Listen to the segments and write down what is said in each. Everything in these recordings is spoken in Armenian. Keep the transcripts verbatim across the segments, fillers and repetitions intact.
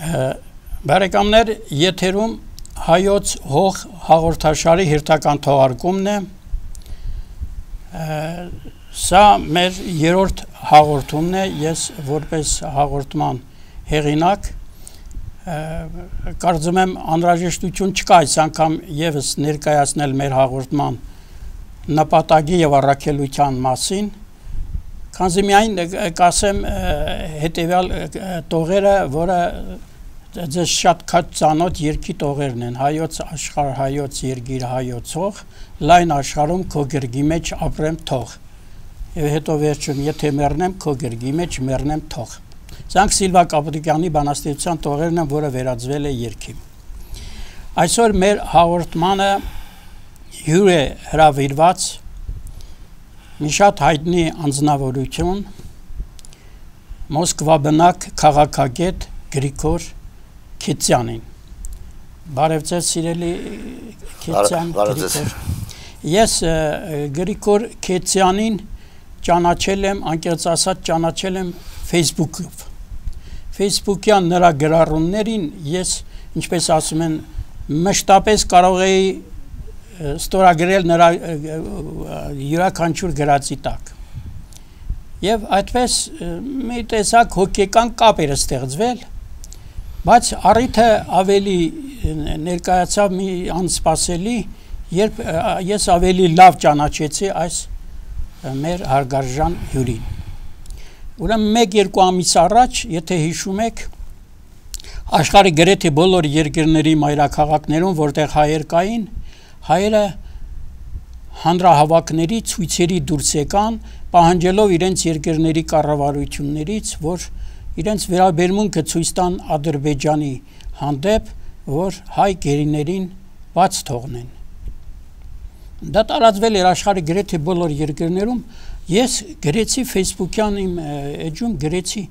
Բարեկամներ, եթերում հայոց հող հաղորդաշարի հերթական թողարկումն է։ Սա մեր երրորդ հաղորդումն է, ես որպես հաղորդման հեղինակ կարծում եմ անհրաժեշտություն չկա այս անգամ եւս ներկայացնել մեր հաղորդման նպատակի եւ առաքելության մասին, քանզի միայն կասեմ հետեւյալ տողերը, որը ձեզ շատ քաջ ծանոթ երկի տողերն են, հայոց աշխարհ, հայոց երկիր, հայոց հող, լայն աշխարհում քո գրգի մեջ ապրեմ թող։ Եվ հետո վերջում, եթե մեռնեմ, քո գրգի մեջ մեռնեմ թող։ Սրանք Սիլվա Կապուտիկյանի բանաստեղծության տողերն են, որը վերածվել է երգի։ Այսօր մեր հաղորդմանը հյուր է հրավիրված մի շատ հայտնի անձնավորություն, Մոսկվա բնակ քաղաքագետ Գրիգոր Քեցյանին։ Բարև ձեզ սիրելի Քեցյան Գրիգոր։ Ես Գրիգոր Քեցյանին ճանաչել եմ, անկեղծ ասած ճանաչել եմ Facebook-ով։ Facebook-յան նրա գրառումներին ես, ինչպես ասում են, մշտապես կարող էի ստորագրել նրա յուրաքանչյուր գրածի տակ։ Եվ այդպես մի տեսակ հոգեկան կապ էր ստեղծվել, բայց առիթը ավելի ներկայացավ մի անսպասելի, երբ ես ավելի լավ ճանաչեցի այս մեր հարգարժան հյուրին։ Ուրեմն մեկ-երկու ամիս առաջ, եթե հիշում եք, աշխարհի գրեթե բոլոր երկրների մայրաքաղաքներում, որտեղ հայեր կային, հայերը հանրահավաքների ցույցերի դուրս եկան, պահանջելով իրենց երկրների կառավարություններից, որ իրենց վերաբերմունքը ցույց տան Ադրբեջանի հանդեպ, որ հայ գերիներին բաց թողնեն։ Դա տարածվել էր աշխարհի գրեթե բոլոր երկրներում, ես գրեցի Facebook-յան իմ էջում գրեցի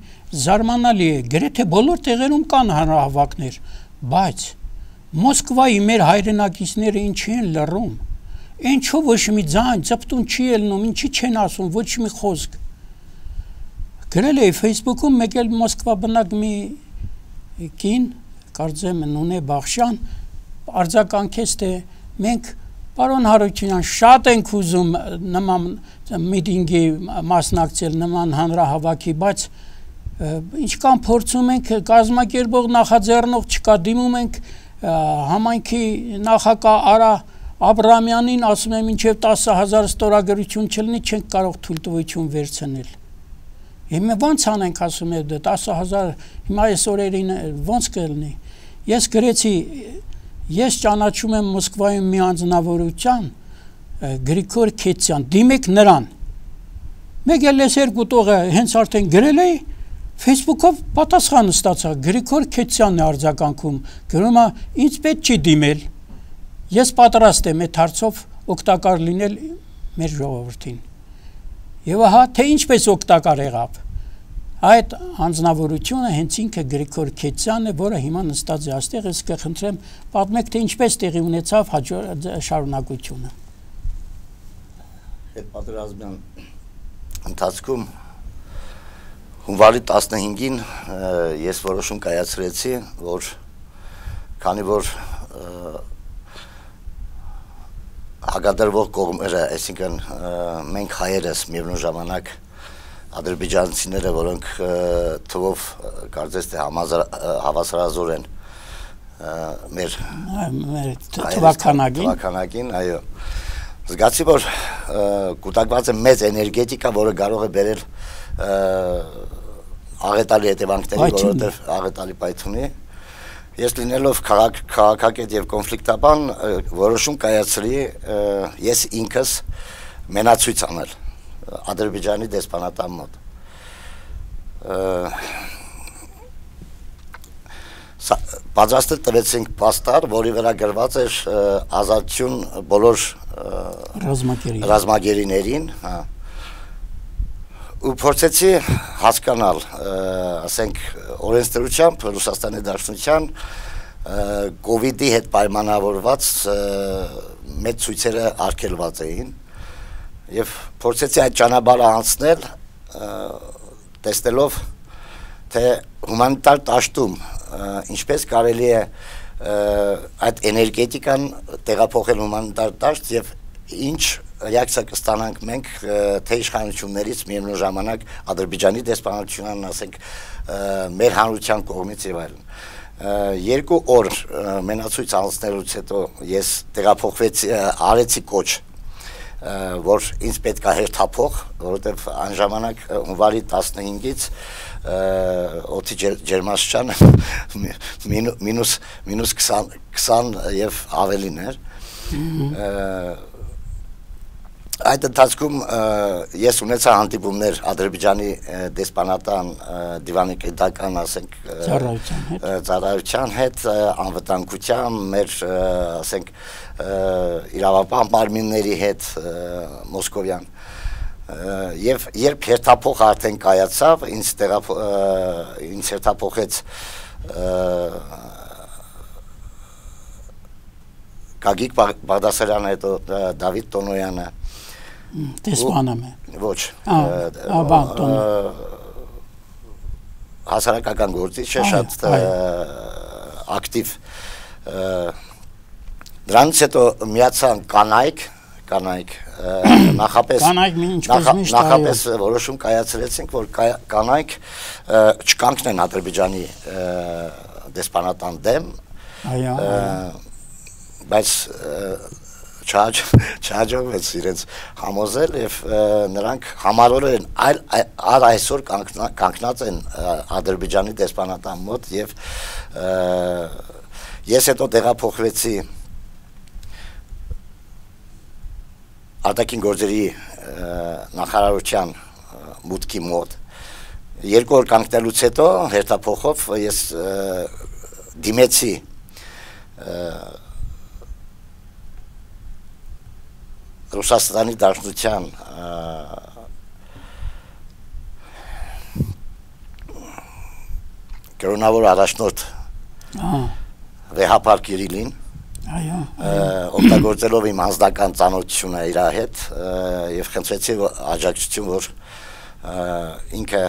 զարմանալի է, գրեթե բոլոր տեղերում կան հանրահավաքներ, բայց Մոսկվայի մեր հայրենակիցները ինչի են լռում, ինչու ոչ մի ձայն, ծպտուն չի ելնում, ինչի չեն ասում, ոչ մի խոսք։ Գրել էի Facebook-ում մեկ էլ Մոսկվա բնակ մի կին, կարծեմ Նունե Բախշյան, արձագանքեց, թե մենք պարոն Հարությունյան շատ ենք ուզում նման միտինգի մասնակցել, նման հանրահավաքի, բայց ինչքան փորձում ենք, կազմակերպող նախաձեռնող չկա, դիմում ենք համայնքի նախագահ Արա Աբրամյանին, ասում եմ մինչև տասը հազար ստորագրություն չլինի, չենք կարող թույլտվություն վերցնել։ Հիմա ո՞նց անենք, ասում եմ, տասը հազար, հիմա այս օրերին ո՞նց կլինի։ Ես գրեցի, ես ճանաչում եմ Մոսկվայում մի անձնավորության, Գրիգոր Քեցյան, դիմեք նրան։ Մեկ էլ ես երկու տողը հենց արդեն գրել էի, Facebook-ով պատասխան ստացա, Գրիգոր Քեցյանն է արձագանքում, գրում է, ինձ պետք չի դիմել, ես պատրաստ եմ այդ հարցով օգտակար լինել մեր ժողովրդին։ Եվ ահա, թե ինչպես օգտակար եղավ։ Այդ անձնավորությունը հենց ինքը Գրիգոր Քեցյանն է, որը հիմա նստած է այստեղ, ես կխնդրեմ, պատմեք, թե ինչպես տեղի ունեցավ շարունակությունը։ Այդ պատերազմյան ընթացքում հունվարի տասնհինգին ես որոշում կայացրեցի, որ քանի որ հագադրվող կողմերը, այսինքն մենք հայերս միևնույն ժամանակ ադրբեջանցիները, որոնք թվով կարծես թե հավասարազոր են մեր թվականակին, այո, զգացի, որ կուտակված է մեծ էներգետիկա, որը կարող է բերել աղետալի հետևանքների, որովհետև աղետալի պայթունի։ Ես լինելով քաղաքագետ եւ կոնֆլիկտաբան որոշում կայացրի ես ինքս մենացույց անել Ադրբեջանի դեսպանատան մոտ։ Պատրաստել տվեցինք պաստար, որի վրա գրված էր ազատություն բոլոր ռազմագերիներին, ու փորձեցի հասկանալ, ասենք, օրենսդրությամբ Ռուսաստանի Դաշնության կովիդի հետ պայմանավորված մեծ ցույցերը արգելված էին եւ փորձեցի այդ ճանապարհը անցնել, տեսնելով թե հումանիտար դաշտում ինչպես կարելի է այդ էներգետիկան տեղափոխել հումանիտար դաշտ եւ ինչ ռեակցիա կստանանք մենք թե իշխանություններից միևնույն ժամանակ Ադրբեջանի դեսպանատությունն ասենք մեր հանրության կողմից եւ այլն երկու օր մենացույց անցնելուց հետո ես տեղափոխվեցի արեցի կոչ որ ինձ պետք է հերթափող որովհետեւ այն ժամանակ հունվարի տասնհինգից օդի ջերմաստիճանը մինուս մինուս քսան եւ ավելին էր այդ ընթացքում ես ունեցա հանդիպումներ Ադրբեջանի դեսպանատան դիվանի պետական ասենք ծառայության հետ անվտանգության մեր ասենք իրավապահ մարմինների հետ մոսկովյան եւ երբ հերթափոխ արդեն կայացավ ինձ ինձ հերթափոխեց Գագիկ Բաղդասարյանը հետո Դավիթ Տոնոյանը Դեսպանամ է ոչ հասարակական գործիչ է շատ ակտիվ դրանից հետո միացան կանայք կանայք նախապես նախապես որոշում կայացրեցինք որ կանայք չկանգնեն Ադրբեջանի դեսպանատան դեմ բայց չհաջողվեց իրենց համոզել եւ նրանք համառորեն այլ առ այսօր կանգնած են Ադրբեջանի դեսպանատան մոտ եւ ես հետո տեղափոխվեցի արտաքին գործերի նախարարության մուտքի մոտ երկու օր կանգնելուց հետո հերթափոխով ես դիմեցի Ռուսաստանի Դաշնության կրոնավոր առաջնորդ Վեհապար Կիրիլին օգտագործելով իմ անձնական ծանոթությունը իր հետ եւ խնդրեցի աջակցություն որ ինքը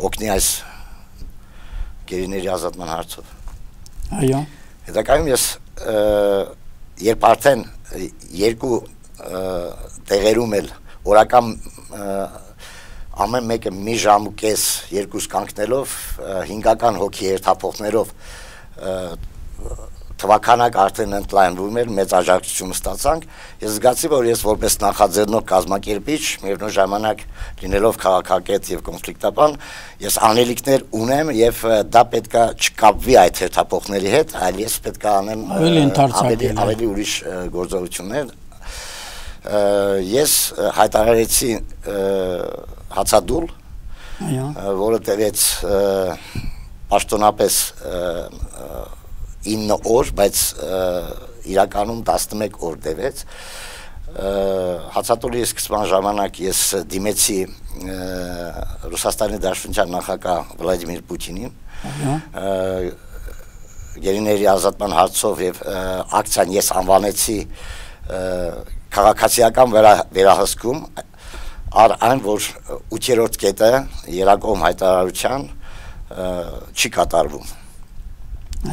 օգնի այս գերիների ազատման հարցով այո հետագայում ես երբ արդեն երկու տեղերում էլ օրական ամեն մեկը մի ժամ ու կես երկուս կանգնելով հինգական հոգի հերթափոխներով թվականակ արդեն ընդլայնվում էր մեծ աջակցություն ստացանք ես զգացի որ ես որպես նախաձեռնող կազմակերպիչ միևնույն ժամանակ լինելով քաղաքագետ եւ կոնֆլիկտաբան ես անելիքներ ունեմ եւ դա պետքա չկապվի այդ հերթափոխների հետ այլ ես պետքա անեմ ավելի ավելի ուրիշ գործողություններ ես հայտարարեցի հացադուլ որը տևեց պաշտոնապես ինը օր, բայց իրականում տասնմեկ օր տևեց հացատուլի սկզբան ժամանակ ես դիմեցի Ռուսաստանի Դաշնության նախագահ Վլադիմիր Պուտինին գերիների ազատման հարցով եւ ակցիան ես անվանեցի քաղաքացիական վերահսկում առ այն որ ութերորդ կետը երակողմ հայտարարության չի կատարվում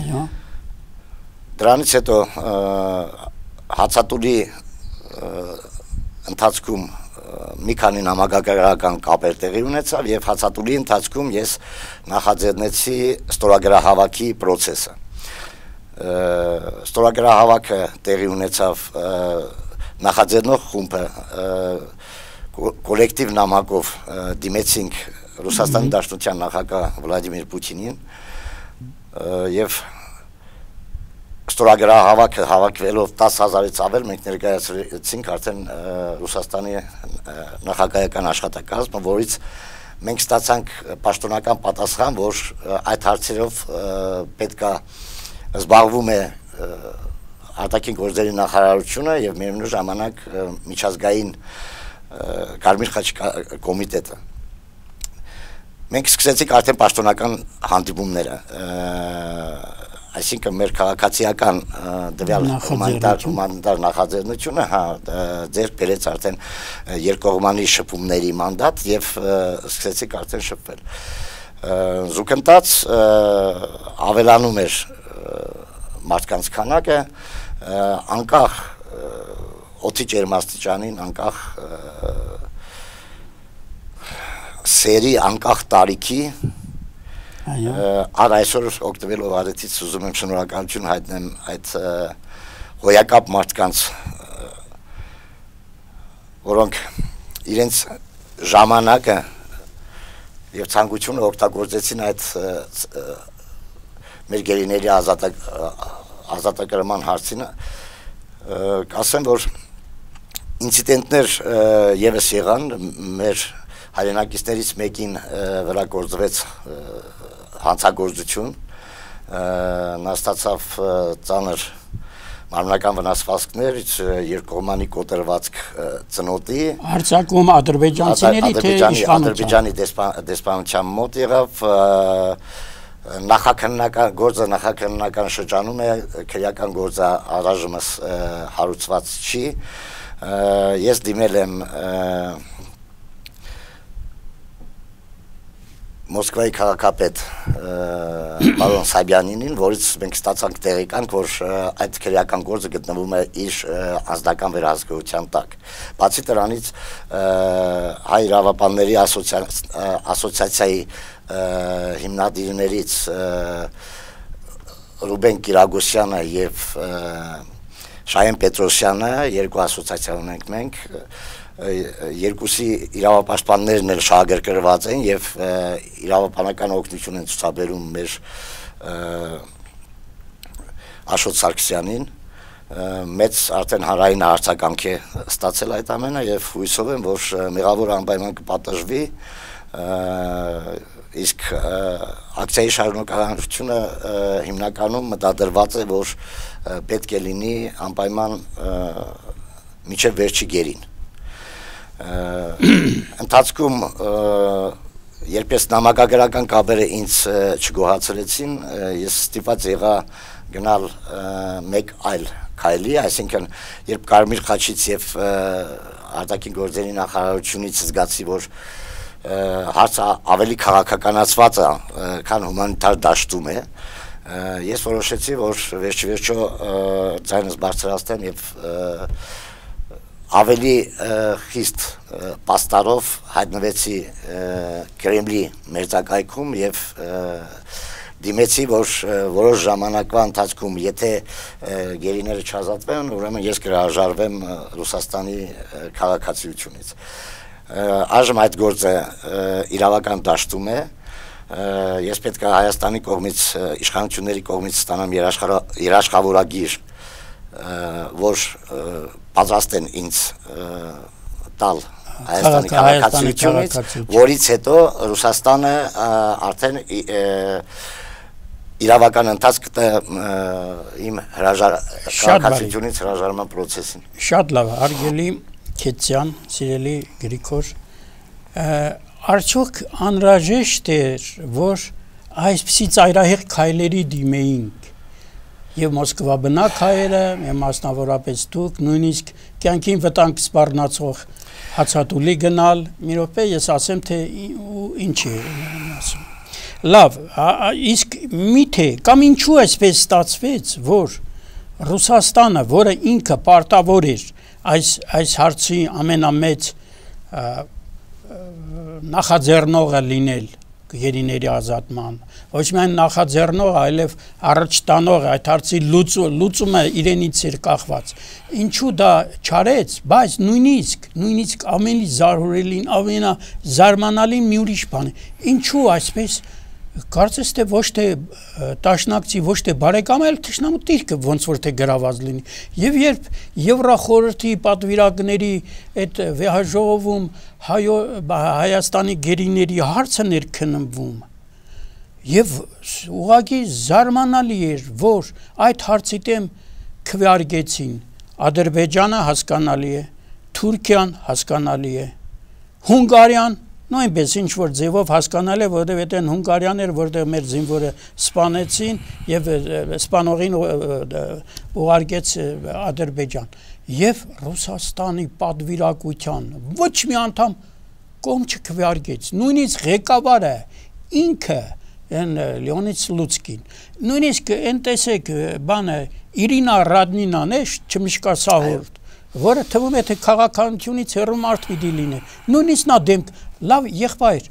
այո դրանից հետո հացատուլի ընթացքում մի քանի նամակագրական կապեր տեղի ունեցավ եւ հացատուլի ընթացքում ես նախաձեռնեցի ստորագրահավաքի process-ը ստորագրահավաքը տեղի ունեցավ նախաձեռնող խումբը կոլեկտիվ նամակով դիմեցինք Ռուսաստանի Դաշնության նախագահ Վլադիմիր Պուտինին եւ ստորագրահավաքը հավաքվելով տասը հազարից ավել մենք ներկայացրեցինք արդեն Ռուսաստանի նախագահական աշխատակազմը, որից մենք ստացանք պաշտոնական պատասխան, որ այդ հարցերով պետքա զբաղվում է արտաքին գործերի նախարարությունը եւ միևնույն ժամանակ միջազգային Կարմիր խաչ կոմիտետը մենք սկսեցինք արդեն պաշտոնական հանդիպումները այսինքն մեր քաղաքացիական դվյալ հումանիտար նախաձեռնությունը հա ձեր բերեց արդեն երկկողմանի շփումների մանդատ եւ սկսեցինք արդեն շփվել զուգընթաց ավելանում էր մարդկանց քանակը, անկախ օդի ջերմաստիճանին, անկախ սերի, անկախ տարիքի, առ այսօր օգտվելով արեցից ուզում եմ շնորհակալություն հայտնեմ այդ հոյակապ մարդկանց, որոնք իրենց ժամանակը և ցանկությունը օգտագործեցին այդ մեր գերիների ազատագրման հարցին, կասեմ, որ ինցիդենտներ ևս եղան, մեր հայրենակիցներից մեկին վրա գործվեց հանցագործություն, նա ստացավ ծանր մարմնական վնասվածքներ, երկկողմանի կոտրվածք ծնոտի, Արձակում ադրբեջանցիների թե իշխանության, Ադրբեջանի դեսպանության մոտ եղավ, նախաքննական գործը նախաքննական շրջանում է, քրեական գործը առայժմս հարուցված չի, ես դիմել եմ Մոսկվայի քաղաքապետ պարոն Սաբյանինին, որից մենք ստացանք տեղեկանք, որ այդ քրեական գործը գտնվում է իր անձնական վերահսկողության տակ։ Բացի դրանից հայ իրավապանների ասոցիացիայի հիմնադիրներից Ռուբեն Կիրագոսյանը և Շահեն Պետրոսյանը, երկու ասոցիացիա ունենք մենք, երկուսի իրավապաշտպաններն էլ շահագրգռված են և իրավապանական օգնություն են ցուցաբերում մեր Աշոտ Սարգսյանին, մեծ արդեն հանրային արձագանք է ստացել այդ ամենը և հույսով եմ, որ մեղավորը անպայման կպատժվի, իսկ ակցիայի շարունակականությունը հիմնականում մտադրված է, որ պետք է լինի անպայման մինչև վերջի գերին։ Ընթացքում երբ ես նամակագրական կապերը ինձ չգոհացրեցին, ես ստիպված եղա գնալ մեկ այլ քայլի, այսինքն երբ Կարմիր խաչից և արտաքին գործերի նախարարությունից զգացի, որ հարցը ավելի քաղաքականացված է, քան հումանիտար դաշտում է, ես որոշեցի, որ վերջի վերջո ձայնս բարձրացնեմ և ավելի խիստ պաստարով հայտնվեցի Կրեմլի մերձակայքում և դիմեցի, որ որոշ ժամանակվա ընթացքում, եթե գերիները չազատվեն, ուրեմն ես կհրաժարվեմ Ռուսաստանի քաղաքացիությունից։ Այժմ այդ գործը իրավական դաշտում է, ես պետք է Հայաստանի կողմից, իշխանությունների կողմից ստանամ երաշխավորագիր, որ պատրաստ են ինձ տալ Հայաստանի քաղաքացիությունից, որից հետո Ռուսաստանը արդեն իրավական ընթացք կտա իմ քաղաքացիությունից հրաժարման պրոցեսին։ Շատ լավ, հարգելի Քեցյան, սիրելի Գրիգոր, արդյոք անհրաժեշտ էր, որ այսպիսի ծայրահեղ քայլերի դիմեինք և Մոսկվա բնակ հայերը, և մասնավորապես դուք, նույնիսկ կյանքին վտանգ սպառնացող հացատուլի գնալ, մի րոպե ես ասեմ, թե ինչ է ասում։ Լավ, իսկ միթե կամ ինչու այսպես ստացվեց, որ Ռուսաստանը, որը ինքը պարտավոր էր այս այս հարցի ամենամեծ նախաձեռնողը լինել գերիների ազատման, ոչ միայն նախաձեռնողը, այլև առաջ տանողը, այդ հարցի լուծումը իրենից էր կախված։ Ինչու դա չարեց, բայց նույնիսկ, նույնիսկ ամենից զարհուրելին, ամենազարմանալին մի ուրիշ բան է։ Ինչու այսպես կարծես թե ոչ թե տաշնակցի, ոչ թե բարեկամ, այլ թշնամու դիրքը ոնց որ թե գրաված լինի։ Եվ երբ Եվրախորհրդի պատվիրակների այդ վեհաժողովում Հայաստանի գերիների հարցը ներքննվում, եւ ուղղակի զարմանալի էր, որ այդ հարցի դեմ քվեարկեցին Ադրբեջանը հասկանալի է, Թուրքիան հասկանալի է, Հունգարիան նույնպես ինչ որ ձևով հասկանալ է, որտեղ այդեն Հունգարիան էր, որտեղ մեր զինվորը սպանեցին եւ սպանողին ուղարկեց Ադրբեջան եւ Ռուսաստանի պատվիրակության ոչ մի անդամ կողմ չքվեարկեց, նույնիսկ ղեկավարը ինքը են Լեոնիդ Սլուցկին նույնիսկ այն տեսեք բանը Իրինա Ռադնինան է չմիշկա սահորդ որը թվում է թե քաղաքականությունից հեռու մարդ պիտի լինի նույնիսկ նա դեմ լավ եղբայր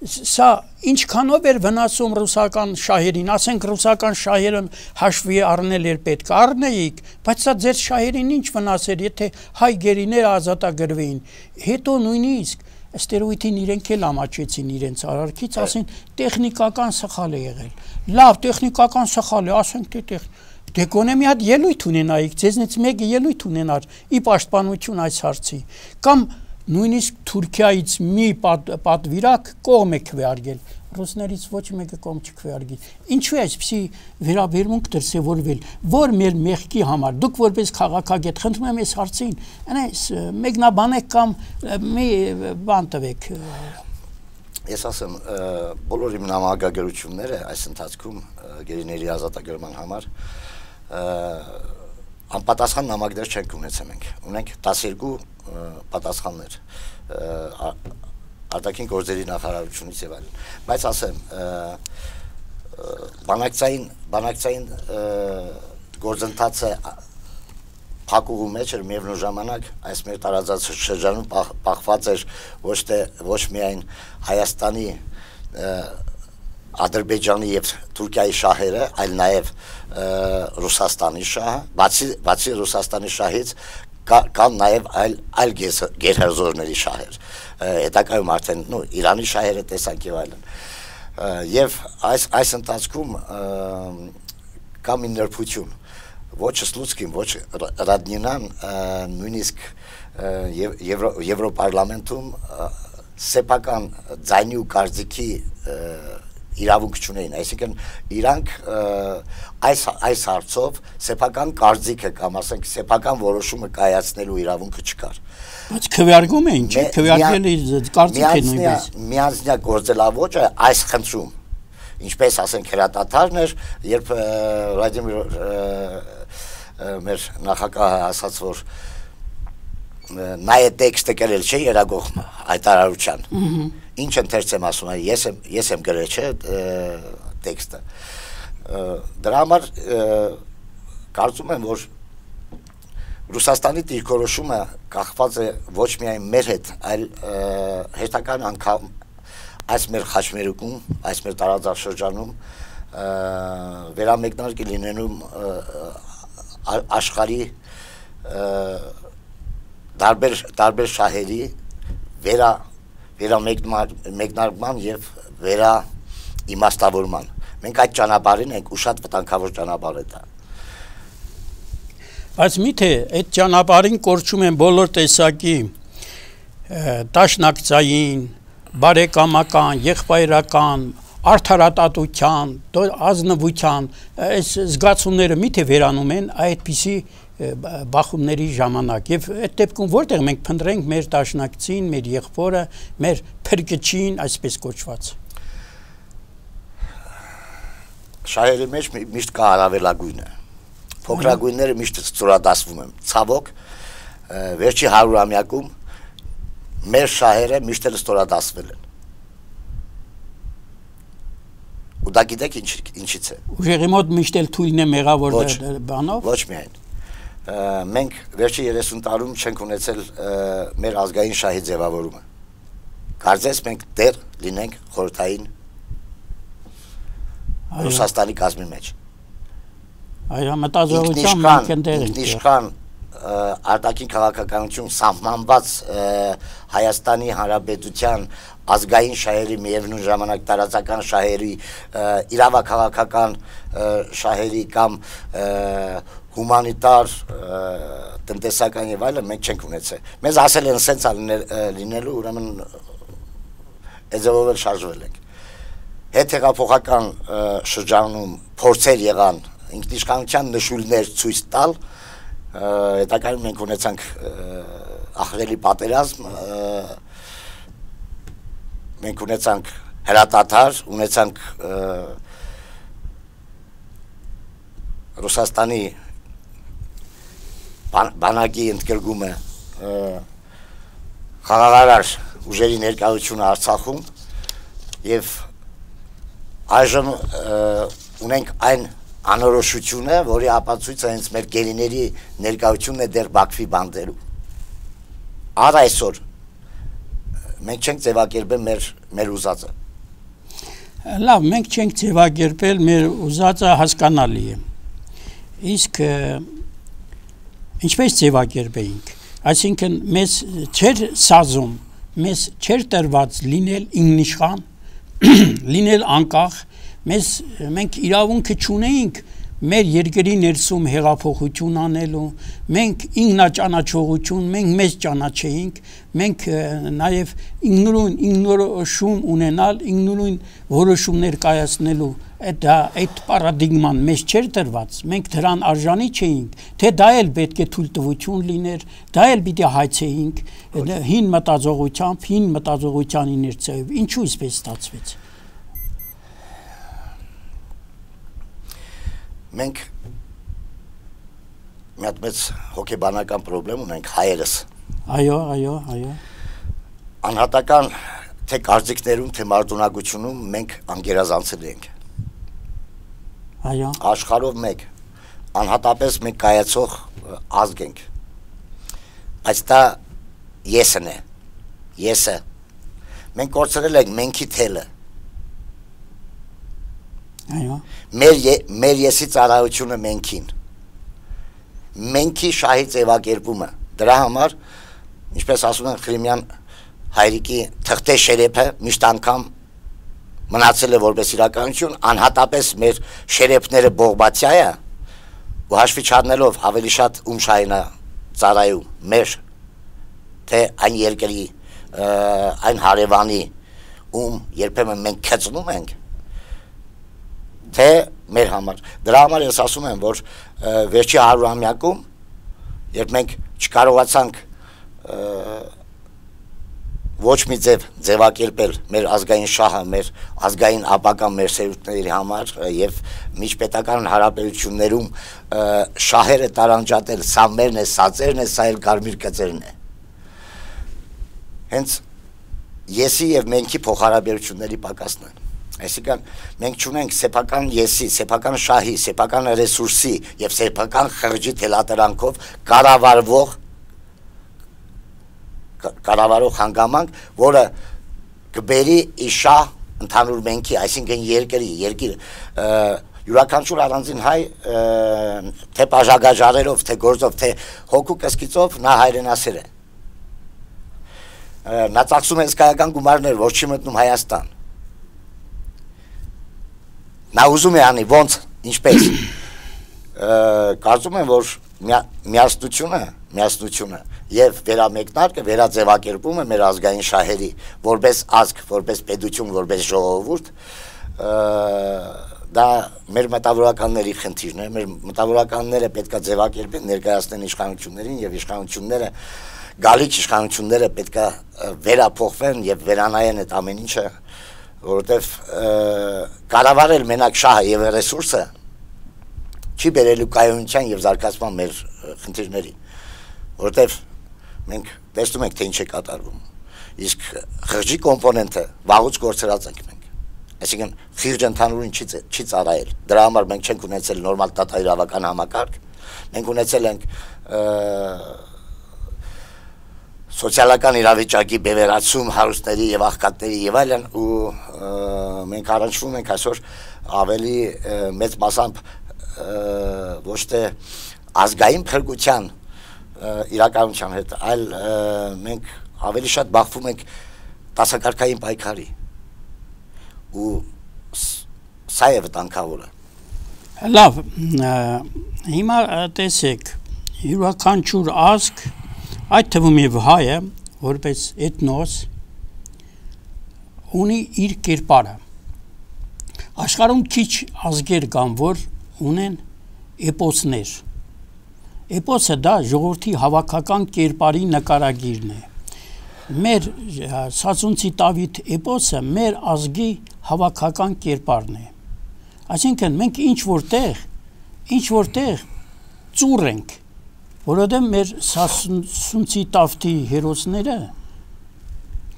սա ինչքանով էր վնասում ռուսական շահերին ասենք ռուսական շահերը հաշվի առնել էր պետք առնեիք բայց սա ձեր շահերին ինչ վնասեր եթե հայ գերիները ազատագրվեին հետո նույնիսկ Ստերոիդին իրենք էլ ամաչեցին իրենց արարքից, ասին տեխնիկական սխալ է եղել։ Լավ, տեխնիկական սխալ է, ասենք թե տեղ դե գոնե մի հատ ելույթ ունենայիք, ձեզնից մեկը ելույթ ունենար ի պաշտպանություն այս հարցի։ Կամ նույնիսկ Թուրքիայից մի պատվիրակ կողմ է քվեարկել, ռուսներից ոչ մեկը կողմ չքվեարկի։ Ինչու է այսպեսի վերաբերմունք դրսևորվել, որ մեր մեղքի համար դուք որպես քաղաքագետ խնդրում եմ այս հարցին, այնպես մեկնաբանեք կամ մի բան տվեք։ Ես ասեմ, բոլոր իմ նամակագրությունները այս ընթացքում գերիների ազատագրման համար անպատասխան նամակներ չենք ունեցել մենք, ունենք տասներկու պատասխաններ արտաքին գործերի նախարարությունից եւ այլն, բայց ասեմ բանակցային բանակցային գործընթացը փակուղու մեջ էր միևնույն ժամանակ այս մեր տարածած շրջանում պահված էր ոչ թե ոչ միայն Հայաստանի Ադրբեջանի եւ Թուրքիայի շահերը, այլ նաեւ Ռուսաստանի շահը, բացի բացի Ռուսաստանի շահից կան նաեւ այլ այլ գերհերձողների շահեր։ Հետագայում արդեն նո Իրանի շահերը տեսանք եւ այլն։ Եվ այս այս ընթացքում կա մի նրբություն, ոչ Սլուցկին, ոչ Ռադնինան, նույնիսկ Եվրոպարլամենտում սեփական ձայնի ու կարծիքի իրավունք չունեին, այսինքն իրանք այս այս հարցով սեփական կարծիքը կամ ասենք սեփական որոշումը կայացնելու իրավունքը չկար։ Բայց քվեարկում էին, չէ՞, քվեարկել կարծիք է նույնպես։ Միանձնյա գործելավոճը այս խնդրում, ինչպես ասենք հրատատարն էր, երբ Վլադիմիր մեր նախագահը ասաց, որ նա է տեքստը գրել չէ երագող հայտարարության։ Ինչ ընթերց եմ ասում, ես եմ ես եմ գրել չէ տեքստը։ Դրա համար կարծում եմ, որ Ռուսաստանի դիրքորոշումը կախված է ոչ միայն մեր հետ, այլ հերթական անգամ այս մեր խաչմերուկում, այս մեր տարածաշրջանում վերամեկնարկի լինելու աշխարհի տարբեր տարբեր շահերի վերա վերամեկնարկման եւ վերա իմաստավորման։ Մենք այդ ճանապարհին ենք ու շատ վտանգավոր ճանապարհ է դա։ Բայց միթե այդ ճանապարհին կորչում են բոլոր տեսակի դաշնակցային, բարեկամական, եղբայրական, արդարատատության, ազնվության այս զգացումները միթե վերանում են այդպիսի բախումների ժամանակ եւ այդ դեպքում որտեղ մենք փնտրենք մեր դաշնակցին, մեր եղբորը, մեր փրկչին, այսպես կոչված։ Շահերի մեջ միշտ կա հարավելագույնը։ Փոքրագույնները միշտ ծորադասվում են։ Ցավոք, վերջի հարյուրամյակում մեր շահերը միշտ էլ ստորադասվել են։ Ու դա գիտեք ինչ ինչից է։ Ուժեղի մոտ միշտ էլ թույլն է մեղավոր բանով։ Ոչ միայն։ Մենք վերջի երեսուն տարում չենք ունեցել մեր ազգային շահի ձևավորումը։ Կարծես մենք դեռ լինենք խորհրդային Ռուսաստանի կազմի մեջ։ Այո, մտածողությամբ մենք ընդեր ենք։ Ինքնիշխան արտաքին քաղաքականություն սահմանված Հայաստանի Հանրապետության ազգային շահերի միևնույն ժամանակ տարածական շահերի իրավաքաղաքական շահերի կամ հումանիտար տնտեսական եւ այլն մենք չենք ունեցել։ Մեզ ասել են սենց լինելու, ուրեմն էջով էլ շարժվել ենք։ Հետհեղափոխական շրջանում փորձեր եղան ինքնիշխանության նշույլներ ցույց տալ, հետագայում մենք ունեցանք ահռելի պատերազմ, մենք ունեցանք հրատատար, ունեցանք Ռուսաստանի բանակի ընդգրկումը խաղաղարար ուժերի ներկայությունը Արցախում եւ այժմ ունենք այն անորոշությունը, որի ապացույցը հենց մեր գերիների ներկայությունն է դեռ Բաքվի բանդերում։ Առ այսօր մենք չենք ձևակերպել մեր մեր ուզածը։ Լավ, մենք չենք ձևակերպել մեր ուզածը, հասկանալի է։ Իսկ ինչպես ձևակերպեինք, այսինքն մեզ չէր սազում, մեզ չէր տրված լինել ինքնիշխան, լինել անկախ, մեզ մենք իրավունքը չունեինք մեր երկրի ներսում հեղափոխություն անելու, մենք ինքնաճանաչողություն, մենք մեզ ճանաչեինք, մենք նաև ինքնուրույն ինքնորոշում ունենալ, ինքնուրույն որոշումներ կայացնելու այդ այդ պարադիգման մեզ չէր տրված, մենք դրան արժանի չէինք, թե դա էլ պետք է թույլտվություն լիներ, դա էլ պիտի հայցեինք հին մտածողությամբ, հին մտածողության իներցիայով, ինչու այսպես ստացվեց։ Մենք մի հատ մեծ հոգեբանական պրոբլեմ ունենք հայերս։ Այո, այո, այո։ Անհատական թե կարծիքներում, թե մարտունակությունում մենք անգերազանցել ենք։ Այո։ Աշխարհով մեկ անհատապես մենք կայացող ազգ ենք։ Բայց դա եսն է։ Եսը։ Մենք կորցրել ենք մենքի թելը։ Այո։ Մեր մեր եսի ծառայությունը մենքին։ Մենքի շահի ձևակերպումը։ Դրա համար, ինչպես ասում են Խրիմյան հայրիկի թղթե շերեփը միշտ անգամ մնացել է որպես իրականություն, անհատապես մեր շերեփները բողբացիայը ու հաշվի չառնելով ավելի շատ ում շահին է ծառայում, մեր թե այն երկրի, այն հարևանի, ում երբեմն մենք քծնում ենք, թե մեր համար։ Դրա համար ես ասում եմ, որ վերջի հարյուրամյակում, երբ մենք չկարողացանք ոչ մի ձև ձևակերպել մեր ազգային շահը, մեր ազգային ապագան մեր սերունդների համար եւ միջպետական հարաբերություններում շահերը տարանջատել, սա մերն է, սա ծերն է, սա էլ կարմիր կծերն է։ Հենց եսի եւ մենքի փոխհարաբերությունների պակասն է։ Այսինքն մենք չունենք սեփական եսի, սեփական շահի, սեփական ռեսուրսի եւ սեփական խղճի թելատրանքով կառավարվող կառավարող հանգամանք, որը կբերի իշահ ընդհանուր մենքի, այսինքն երկրի, երկիր յուրաքանչյուր առանձին հայ թե բաժագաժարերով, թե գործով, թե հոգու կսկիծով նա հայրենասեր է։ Նա ծախսում է հսկայական գումարներ, որ չի մտնում Հայաստան։ Նա ուզում է անի ոնց, ինչպես։ Կարծում եմ, որ միասնությունը, միասնությունը եւ վերամեկնարկը, վերաձևակերպումը մեր ազգային շահերի, որպես ազգ, որպես պետություն, որպես ժողովուրդ, դա մեր մտավորականների խնդիրն է, մեր մտավորականները պետք է ձևակերպեն, ներկայացնեն իշխանություններին եւ իշխանությունները գալիք իշխանությունները պետք է վերափոխվեն եւ վերանայեն այդ ամեն ինչը, որովհետեւ կառավարել մենակ շահը եւ ռեսուրսը չի բերելու կայունության եւ զարգացման մեր խնդիրներին, որովհետեւ մենք տեսնում ենք թե ինչ է կատարվում, իսկ խղճի կոմպոնենտը վաղուց գործրած ենք մենք, այսինքն խիղճ ընդհանուրին չի չի ծառայել, դրա համար մենք չենք ունեցել նորմալ դատաիրավական համակարգ, մենք ունեցել ենք սոցիալական իրավիճակի բևեռացում հարուստների եւ աղքատների եւ այլն ու մենք առնչվում ենք այսօր ավելի մեծ մասամբ ոչ թե ազգային փրկության իրականության հետ, այլ մենք ավելի շատ բախվում ենք տասակարգային պայքարի ու սա է վտանգավորը։ Լավ, հիմա տեսեք, յուրաքանչյուր ազգ, այդ թվում եւ հայը, որպես էթնոս, ունի իր կերպարը։ Աշխարհում քիչ ազգեր կան, որ ունեն էպոսներ։ Էպոսը դա ժողովրդի հավաքական կերպարի նկարագիրն է։ Մեր Սասունցի Տավիթ էպոսը մեր ազգի հավաքական կերպարն է։ Այսինքն մենք ինչ որտեղ, ինչ որտեղ ծուռ ենք, որովհետև մեր Սասունցի Տավթի հերոսները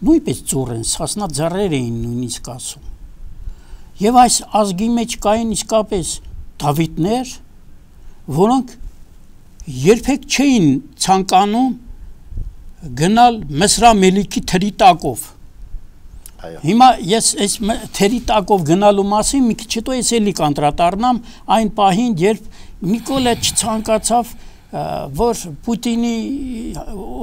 նույնպես ծուռ են, սասնա ձեռեր էին նույնիսկ ասում։ Եվ այս ազգի մեջ կային իսկապես Դավիթներ, որոնք երբեք չէին ցանկանում գնալ Մսրա Մելիքի թրի տակով։ Հիմա ես այս թերի տակով գնալու մասին մի քիչ հետո ես էլի կանդրադառնամ այն պահին, երբ Նիկոլը չցանկացավ, որ Պուտինի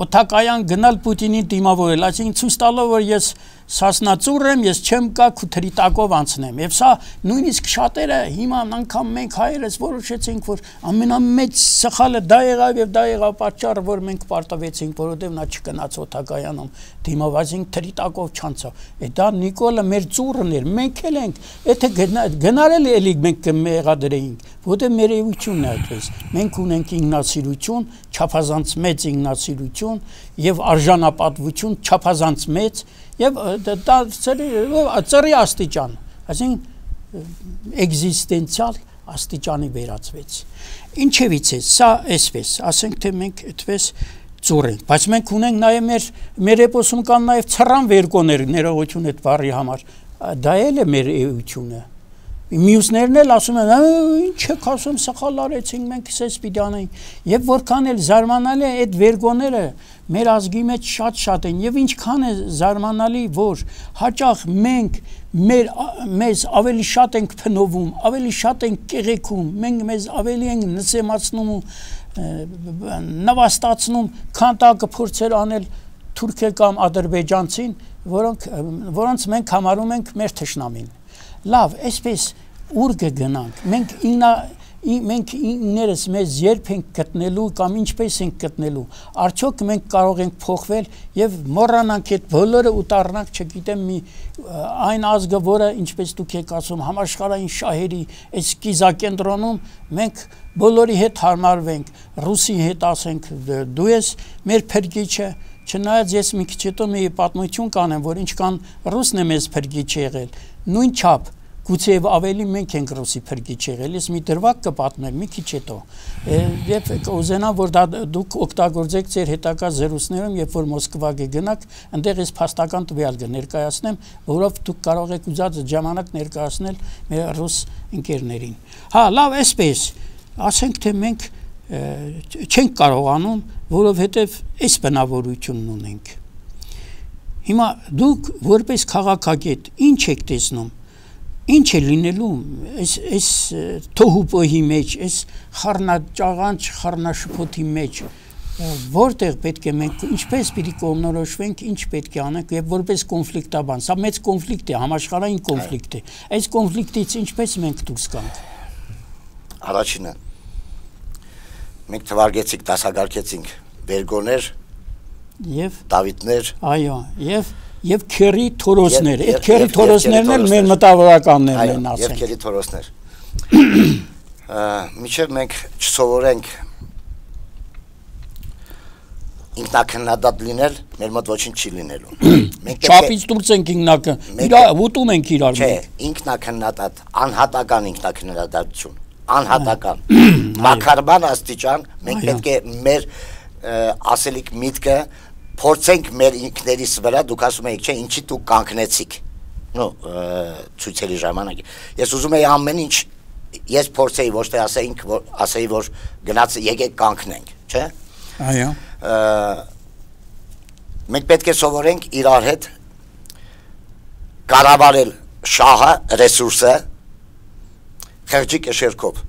օթակայան գնալ Պուտինին դիմավորել, այսինքն ցույց տալով, որ ես սասնածուր եմ, ես չեմ գա քութերի տակով անցնեմ։ Եվ սա նույնիսկ շատերը հիմա անգամ մենք հայերս որոշեցինք, որ ամենամեծ սխալը դա եղավ եւ դա եղավ պատճառը, որ մենք պարտվեցինք, որովհետեւ նա չգնաց օթակայանում դիմավորեցինք թերի տակով չանցավ։ Է դա Նիկոլը մեր ծուրն էր, մենք էլ ենք, եթե գնարել էլի մենք կմեղադրեինք, որովհետեւ մեր էությունն է այդպես։ Մենք ունենք ինքնասիրություն, չափազանց մեծ ինքնասիրություն եւ արժանապատվություն չափազանց մեծ եւ դա ծրի աստիճան, այսինքն էգզիստենցիալ աստիճանի վերածվեց։ Ինչևից է, սա այսպես, ասենք թե մենք այդպես ծուր ենք, բայց մենք ունենք նաեւ մեր մեր էպոսում կան նաեւ ցռան վերկոներ, ներողություն այդ բառի համար, դա էլ է մեր էությունը։ Մյուսներն էլ ասում են, ինչ եք ասում, սխալ արեցինք, մենք սես պիտի անենք։ Եվ որքան էլ զարմանալի է այդ վերգոները մեր ազգի մեջ շատ-շատ են, եւ ինչքան է զարմանալի, որ հաճախ մենք մեր մեզ ավելի շատ ենք փնովում, ավելի շատ ենք կեղեքում, մենք մեզ ավելի ենք նսեմացնում ու նվաստացնում, քան տա կփորձեր անել թուրքը կամ ադրբեջանցին, որոնք որոնց մենք համարում ենք մեր թշնամին։ Լավ, այսպես ուր կգնանք, մենք իննա մենք իններս մեզ երբ ենք գտնելու կամ ինչպես ենք գտնելու, արդյոք մենք կարող ենք փոխվել եւ մոռանանք այդ բոլորը ու դառնանք, չգիտեմ, մի այն ազգը, որը ինչպես դուք եք ասում, համաշխարհային շահերի այս կիզակենտրոնում մենք բոլորի հետ հարմարվենք, ռուսի հետ ասենք, դու ես մեր փրկիչը, չնայած ես մի քիչ հետո մի պատմություն կանեմ, որ ինչքան ռուսն է մեզ փրկիչ եղել, նույն չափ գուցե ավելի մենք ենք ռուսի փրկիչ եղել, ես մի դրվագ կպատմեմ մի քիչ հետո, եւ կուզենամ, որ դա դուք օգտագործեք ձեր հետագա զրույցներում, երբ որ Մոսկվա կգնաք, այնտեղ ես փաստական տվյալ կներկայացնեմ, որով դուք կարող եք ուզած ժամանակ ներկայացնել մեր ռուս ընկերներին։ Հա, լավ, այսպես, ասենք թե մենք չենք կարողանում, որովհետեւ այս բնավորությունն ունենք։ Հիմա դուք որպես քաղաքագետ ինչ եք տեսնում, ինչ է լինելու այս թոհուպոհի մեջ, այս խառնաճաղանճ խառնաշփոթի մեջ, որտեղ պետք է մենք ինչպես պիտի կողմնորոշվենք, ինչ պետք է անենք եւ որպես կոնֆլիկտաբան, սա մեծ կոնֆլիկտ է, համաշխարհային կոնֆլիկտ է, այս կոնֆլիկտից ինչպես մենք դուրս գանք։ Առաջինը մենք թվարկեցինք, դասակարգեցինք վերգոներ եւ Դավիթներ, այո, եւ եւ քերի թորոսներ, այդ քերի թորոսներն էլ մեր մտավորականներն են, ասենք։ Եվ քերի թորոսներ։ Միջև մենք չսովորենք ինքնակնդատ լինել, մեր մոտ ոչինչ չի լինելու։ Մենք չափից դուրս ենք ինքնակը, ուտում ենք իրար։ Չէ, ինքնակնդատ, անհատական ինքնակնդատություն, անհատական, մակարման աստիճան, մենք պետք է մեր ասելիք միտքը փորձենք մեր ինքներիս վրա, դուք ասում եք, չէ, ինչի դուք կանգնեցիք, նո, ցույցերի ժամանակ։ Ես ուզում եի ամեն ինչ, ես փորձեի, ոչ թե ասեինք, ասեի, որ գնաց եկեք կանգնենք, չէ։ Այո։ Մենք պետք է սովորենք իրար հետ կառավարել շահը, ռեսուրսը խեղճի կշերքով,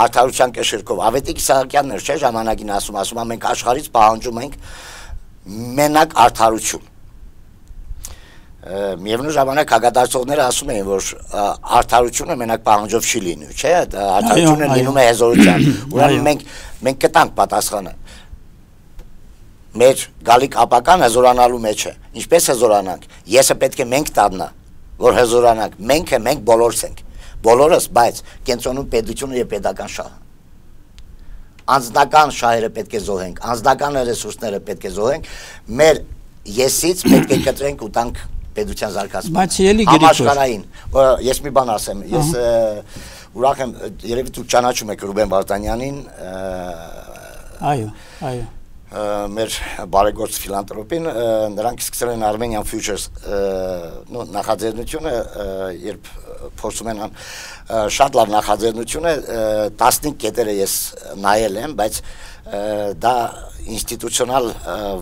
արդարության կշերքով։ Ավետիք Իսահակյանն էր, չէ, ժամանակին ասում, ասում, մենք աշխարհից պահանջում ենք մենակ արդարություն։ Միևնույն ժամանակ հակադարձողները ասում էին, որ արդարությունը մենակ պահանջով չի լինում, չէ, արդարությունը լինում է հզորության։ Ուրեմն մենք մենք կտանք պատասխանը։ Մեր գալիք ապական հզորանալու մեջ է։ Ինչպես հզորանանք։ Եսը պետք է մենք տաննա, որ հզորանանք։ Մենք է, մենք բոլորս ենք։ Բոլորս, բայց կենտրոնում պետությունը եւ պետական շահը։ Անձնական շահերը պետք է զոհենք, անձնական ռեսուրսները պետք է զոհենք, մեր եսից պետք է կտրենք ու տանք պետության զարգացման։ Բայց ելի գիտեք, համաշխարհային, ես մի բան ասեմ, ես ուրախ եմ, երևի դուք ճանաչում եք Ռուբեն Վարդանյանին, այո, այո, մեր բարեգործ ֆիլանտրոպին, նրանք սկսել են Armenian Futures նախաձեռնությունը, երբ փորձում են շատ լավ նախաձեռնություն է, տասնհինգ կետերը ես նայել եմ, բայց դա ինստիտուցիոնալ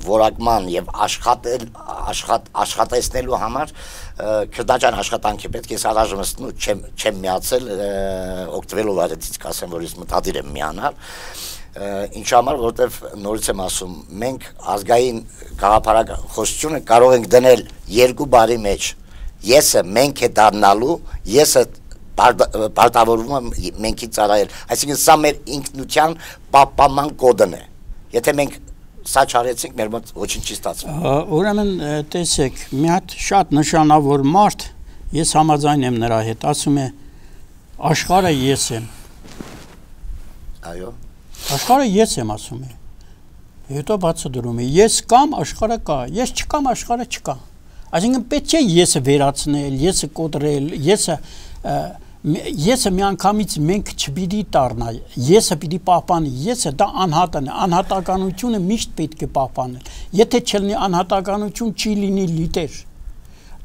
որակման եւ աշխատել աշխատ աշխատեցնելու համար քրդաճան աշխատանքի պետք է առայժմ չեմ չեմ միացել օգտվելով այդից կասեմ որ ես մտադիր եմ միանալ ինչ համար որովհետեւ նորից եմ ասում մենք ազգային գաղափարախոսությունը կարող ենք դնել երկու բարի մեջ եսը մենք է դառնալու եսը պարտավորվում եմ մենքի ծառայել այսինքն սա մեր ինքնության պահպանման կոդն է եթե մենք սա չարեցինք մեր մոտ ոչինչ չի ստացվում ուրեմն տեսեք մի հատ շատ նշանավոր մարդ ես համաձայն եմ նրա հետ ասում է աշխարհը ես եմ այո աշխարհը ես եմ ասում է հետո բացատրում է ես կամ աշխարհը կա ես չկամ աշխարհը չկա այսինքն պետք է եսը վերացնել եսը կոտրել եսը եսը միանգամից մենք չպիտի տառնա եսը պիտի պահպանի եսը դա անհատն է անհատականությունը միշտ պետք է պահպանել եթե չլինի անհատականություն չի լինի լիդեր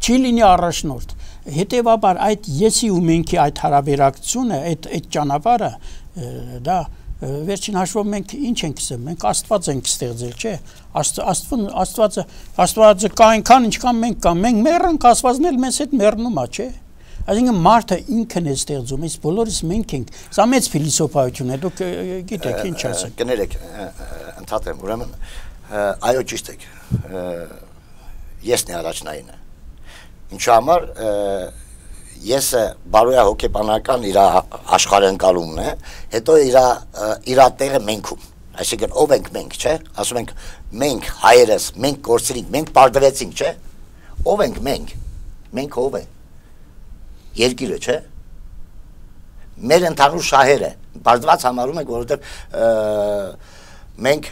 չի լինի առաջնորդ հետևաբար այդ եսի ու մենքի այդ հարաբերակցությունը այդ այդ ճանապարհը դա վերջին հաշվով մենք ինչ ենք ասում մենք Աստված ենք ստեղծել չէ Աստված Աստվածը Աստվածը կա այնքան ինչքան մենք կա մենք մեռանք Աստվածն էլ մեզ հետ մեռնում է չէ Այսինքն մարդը ինքն է ստեղծում, իսկ բոլորս մենք ենք։ Սա մեծ փիլիսոփայություն է, դուք գիտեք ինչ ասեք։ Կներեք, ընդհատեմ, ուրեմն այո ճիշտ եք։ Եսն է առաջնայինը։ Ինչու համար եսը բարոյա հոգեբանական իր աշխարհընկալումն է, հետո իր իր տեղը մենքում։ Այսինքն ով ենք մենք, չէ՞։ Ասում ենք մենք հայերս, մենք կորցրինք, մենք պարտվեցինք, չէ՞։ Ով ենք մենք։ Մենք ով ենք։ Երկիրը, չէ՞։ Մեր ընդհանուր շահերը բարձված համարում ենք, որովհետև մենք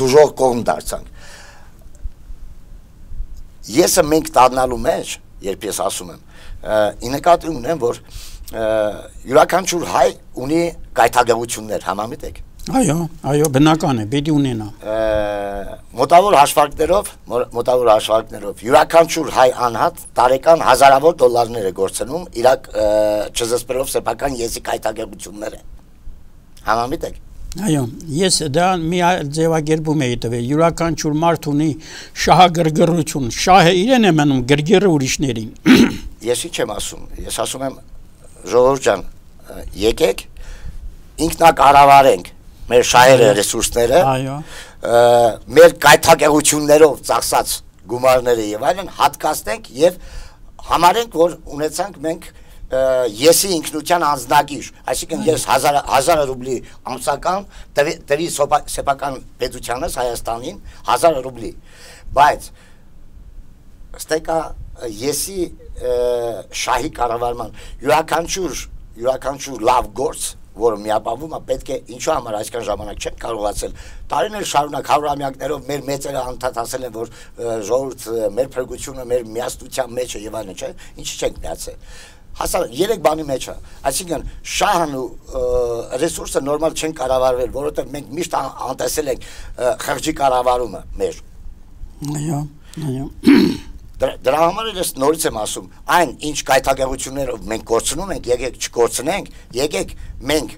դժոխ կողմ դարձանք։ Եսը մենք դառնալու մեջ, երբ ես ասում եմ, ի նկատի ունեմ, որ յուրաքանչյուր հայ ունի գայթակղություններ, համամիտ եք։ Այո, այո, բնական է, պետք է ունենա։ Մոտավոր հաշվարկներով, մոտավոր հաշվարկներով յուրաքանչյուր հայ անհատ տարեկան հազարավոր դոլարներ է գործնում իր չզսպելով սեփական եսի գայթակղությունները։ Համամիտ եք։ Այո, ես դա մի ձևակերպում էի տվել, յուրաքանչյուր մարդ ունի շահագրգռություն, շահը իրեն է մնում, գրգիռը ուրիշներին։ Ես ինչ եմ ասում, ես ասում եմ ժողովուրդ ջան, եկեք ինքնակառավարենք մեր շահերը, ռեսուրսները, այո, մեր գայթակղություններով ծախսած գումարները եւ այլն հատկացնենք եւ համարենք, որ ունեցանք մենք եսի ինքնության անձնագիր, այսինքն ես հազար ռուբլի ամսական տվի սեփական պետությանս Հայաստանին հազար ռուբլի, բայց ստեկա եսի շահի կառավարման յուրաքանչյուր յուրաքանչյուր լավ գործ որը միապահվում է պետք է ինչու համար այսքան ժամանակ չեն կարողացել տարիներ շարունակ հարյուրամյակներով մեր մեծերը անդադասել են որ ժողովուրդ մեր փրկությունը մեր միասնության մեջ է եւ այլն չէ ինչի չենք միացել հասար երեք բանի մեջ է այսինքն շահն ու ռեսուրսը նորմալ չեն կառավարվել որովհետեւ մենք միշտ անտեսել ենք խղճի կառավարումը մեր այո այո Դրա համար ես նորից եմ ասում, այն ինչ գայթակղություններով մենք կորցնում ենք, եկեք չկորցնենք, եկեք մենք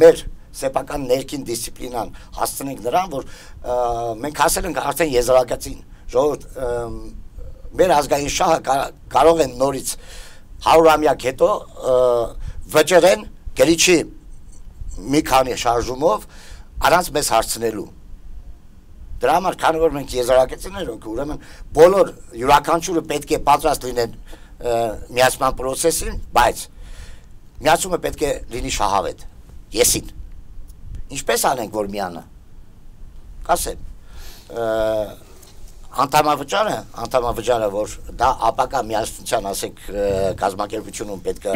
մեր սեփական ներքին դիսցիպլինան հասցնենք նրան, որ մենք հասել ենք արդեն եզրակացին, ժողովուրդ մեր ազգային շահը կարող են նորից հարյուրամյակ հետո վճռեն գրիչի մի քանի շարժումով առանց մեզ հարցնելու Դրա համար քանի որ մենք եզրակացիներ ենք, ուրեմն բոլոր յուրաքանչյուրը պետք է պատրաստ լինեն միացման process-ին, բայց միացումը պետք է լինի շահավետ, եսին։ Ինչպես անենք, որ միանա։ Կասեմ, անդամավճարը, անդամավճարը, որ դա ապակա միասնության, ասենք, կազմակերպությունում պետք է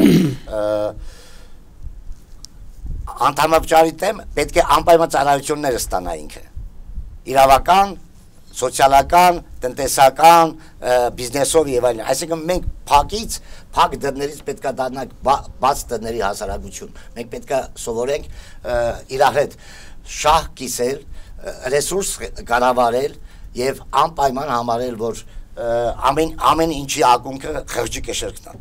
անդամավճարի դեմ պետք է անպայման ծառայությունները ստանա ինքը։ Իրավական, սոցիալական, տնտեսական, բիզնեսով եւ այլն։ Այսինքն մենք փակից, փակ դռներից պետքա դառնանք բաց դռների հասարակություն։ Մենք պետքա սովորենք իրար հետ շահ կիսել, ռեսուրս կառավարել եւ անպայման համարել, որ ամեն ամեն ինչի ակունքը խղճի կշերքնա։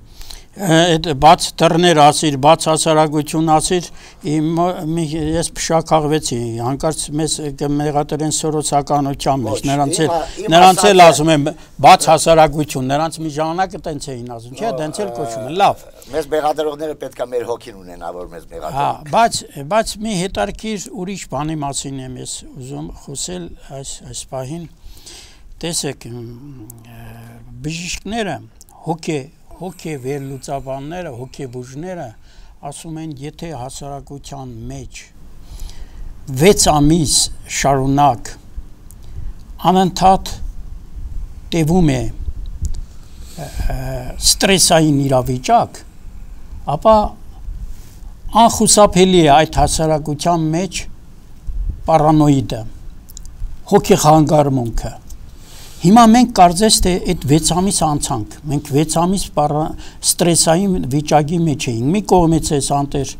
այդ բաց դռներ ասիր, բաց հասարակություն ասիր, ես փշակաղվեցի, հանկարծ մեզ կմեղադրեն սորոսականության մեջ, նրանց էլ ասում եմ բաց հասարակություն, նրանց մի ժամանակը տենց էին ասում, չէ, տենց էլ կոչում են, լավ։ Մեզ մեղադրողները պետք է մեր հոգին ունենա, որ մեզ մեղադրեն։ Հա, բայց բայց մի հետարքիր ուրիշ բանի մասին եմ ես ուզում խոսել այս այս պահին։ Տեսեք, բժիշկները, հոգե հոգե վերլուծաբանները, հոգեբուժները ասում են, եթե հասարակության մեջ վեց ամիս շարունակ անընդհատ տևում է ստրեսային իրավիճակ, ապա անխուսափելի է այդ հասարակության մեջ պարանոիդը, հոգեխանգարմունքը։ Հիմա մենք կարծես թե այդ վեց ամիս անցանք, մենք վեց ամիս ստրեսային վիճակի մեջ էինք, մի կողմից էս անտեր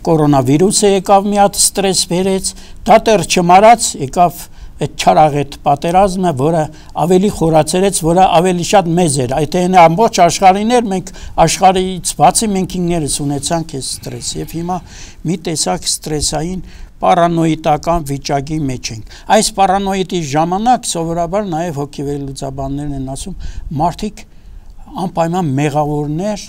կորոնավիրուսը եկավ մի հատ ստրես բերեց, դա տեր չմարած եկավ այդ չարաղետ պատերազմը, որը ավելի խորացրեց, որը ավելի շատ մեծ էր, այդ այն ամբողջ աշխարհին էր, մենք աշխարհից բացի մենք ինքներս ունեցանք այս ստրես եւ հիմա մի տեսակ ստրեսային պարանոիդական վիճակի մեջ ենք։ Այս պարանոիդի ժամանակ սովորաբար նաև հոգեվերլուծաբաններն են ասում, մարդիկ անպայման մեղավորներ,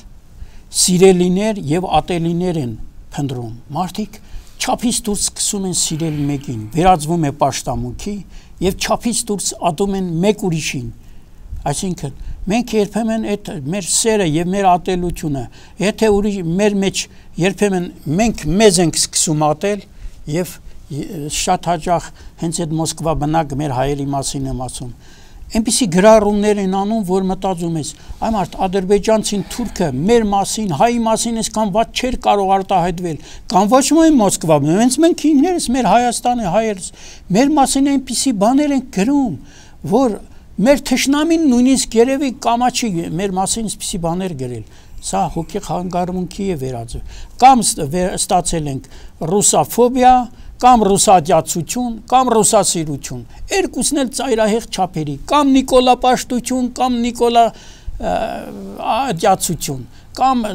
սիրելիներ եւ ատելիներ են փնտրում։ Մարդիկ չափից դուրս սկսում են սիրել մեկին, վերածվում է պաշտամունքի եւ չափից դուրս ատում են մեկ ուրիշին։ Այսինքն մենք երբեմն այդ մեր սերը եւ մեր ատելությունը, եթե ուրիշ մեր մեջ երբեմն մենք մեզ ենք սկսում ատել, եւ շատ հաճախ հենց այդ Մոսկվա բնակ մեր հայերի մասին եմ ասում, այնպիսի գրառումներ են անում, որ մտածում ես, այ մարդ ադրբեջանցին, թուրքը մեր մասին, հայի մասին այսքան ված չէր կարող արտահայտվել, կամ ոչ միայն Մոսկվա, հենց մենք ինքներս մեր Հայաստանը, հայերս, մեր մասին այնպիսի բաներ են գրում, որ մեր թշնամին նույնիսկ երևի կամաչի մեր մասին այսպիսի բաներ գրել։ Սա հոգեխանգարմունքի է վերածվում, կամ ստացել ենք ռուսաֆոբիա, կամ ռուսադյացություն, կամ ռուսասիրություն, երկուսն էլ ծայրահեղ չափերի, կամ նիկոլապաշտություն, կամ նիկոլա դյացություն, կամ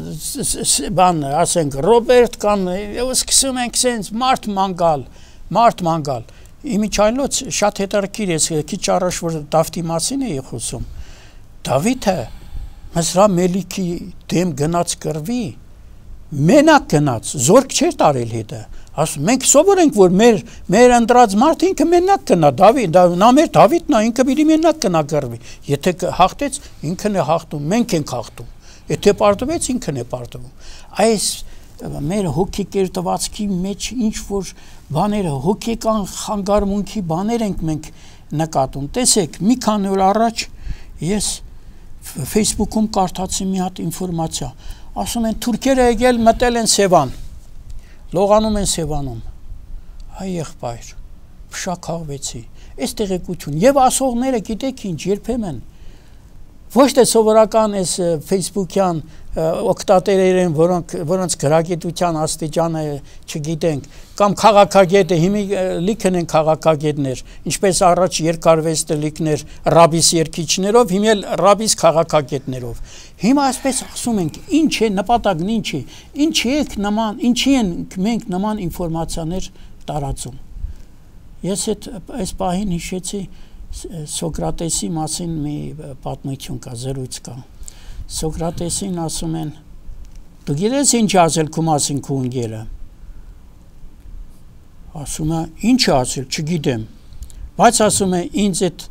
բան, ասենք, Ռոբերտ, կամ սկսում ենք սենց մարդ մանգալ, մարդ մանգալ։ Իմիջայլոց շատ հետարքիր ես, քիչ առաջ որ Դավթի մասին էի խոսում, Դավիթը Մզրա Մելիքի դեմ գնաց կռվի, մենակ գնաց, զորք չէր տարել հետը, ասում, մենք սովոր ենք, որ մեր, մեր ընտրած մարդ ինքը մենակ գնա, Դավիթ, նա մեր Դավիթն է, ինքը պիտի մենակ գնա կռվի, եթե հաղթեց, ինքն է հաղթում, մենք ենք հաղթում, եթե պարտվեց, ինքն է պարտվում, այս մեր հոգեկերտվածքի մեջ ինչ-որ բաները, հոգեկան խանգարմունքի բաներ ենք մենք նկատում, տեսեք, մի քանի օր առաջ ես Facebook-ում կարդացի մի հատ ինֆորմացիա, ասում են թուրքերը եկել մտել են Սևան, լողանում են Սևանում, այ եղբայր, փշակաղվեցի, այս տեղեկություն, եւ ասողները գիտեք ինչ, երբեմն, ոչ թե սովորական այս Facebook-յան օգտատերեր են, որոնք որոնց գրագիտության աստիճանը չգիտենք, կամ քաղաքագետը, հիմա լիքն են քաղաքագետներ, ինչպես առաջ երկարվեստը լիքներ ռաբիս երկիչներով, հիմա էլ ռաբիս քաղաքագետներով։ Հիմա այսպես ասում ենք, ինչ է նպատակն ինչ է, ինչի եք նման, ինչի են մենք նման ինֆորմացիաներ տարածում։ Ես այս պահին հիշեցի Սոկրատեսի մասին մի պատմություն կա, զրույց կա։ Սոկրատեսին ասում են, դու գիտես ինչ ասել քո մասին քո ընկերը։ Ասում է, ինչ ասել, չգիտեմ։ Բայց ասում է, ինձ այդ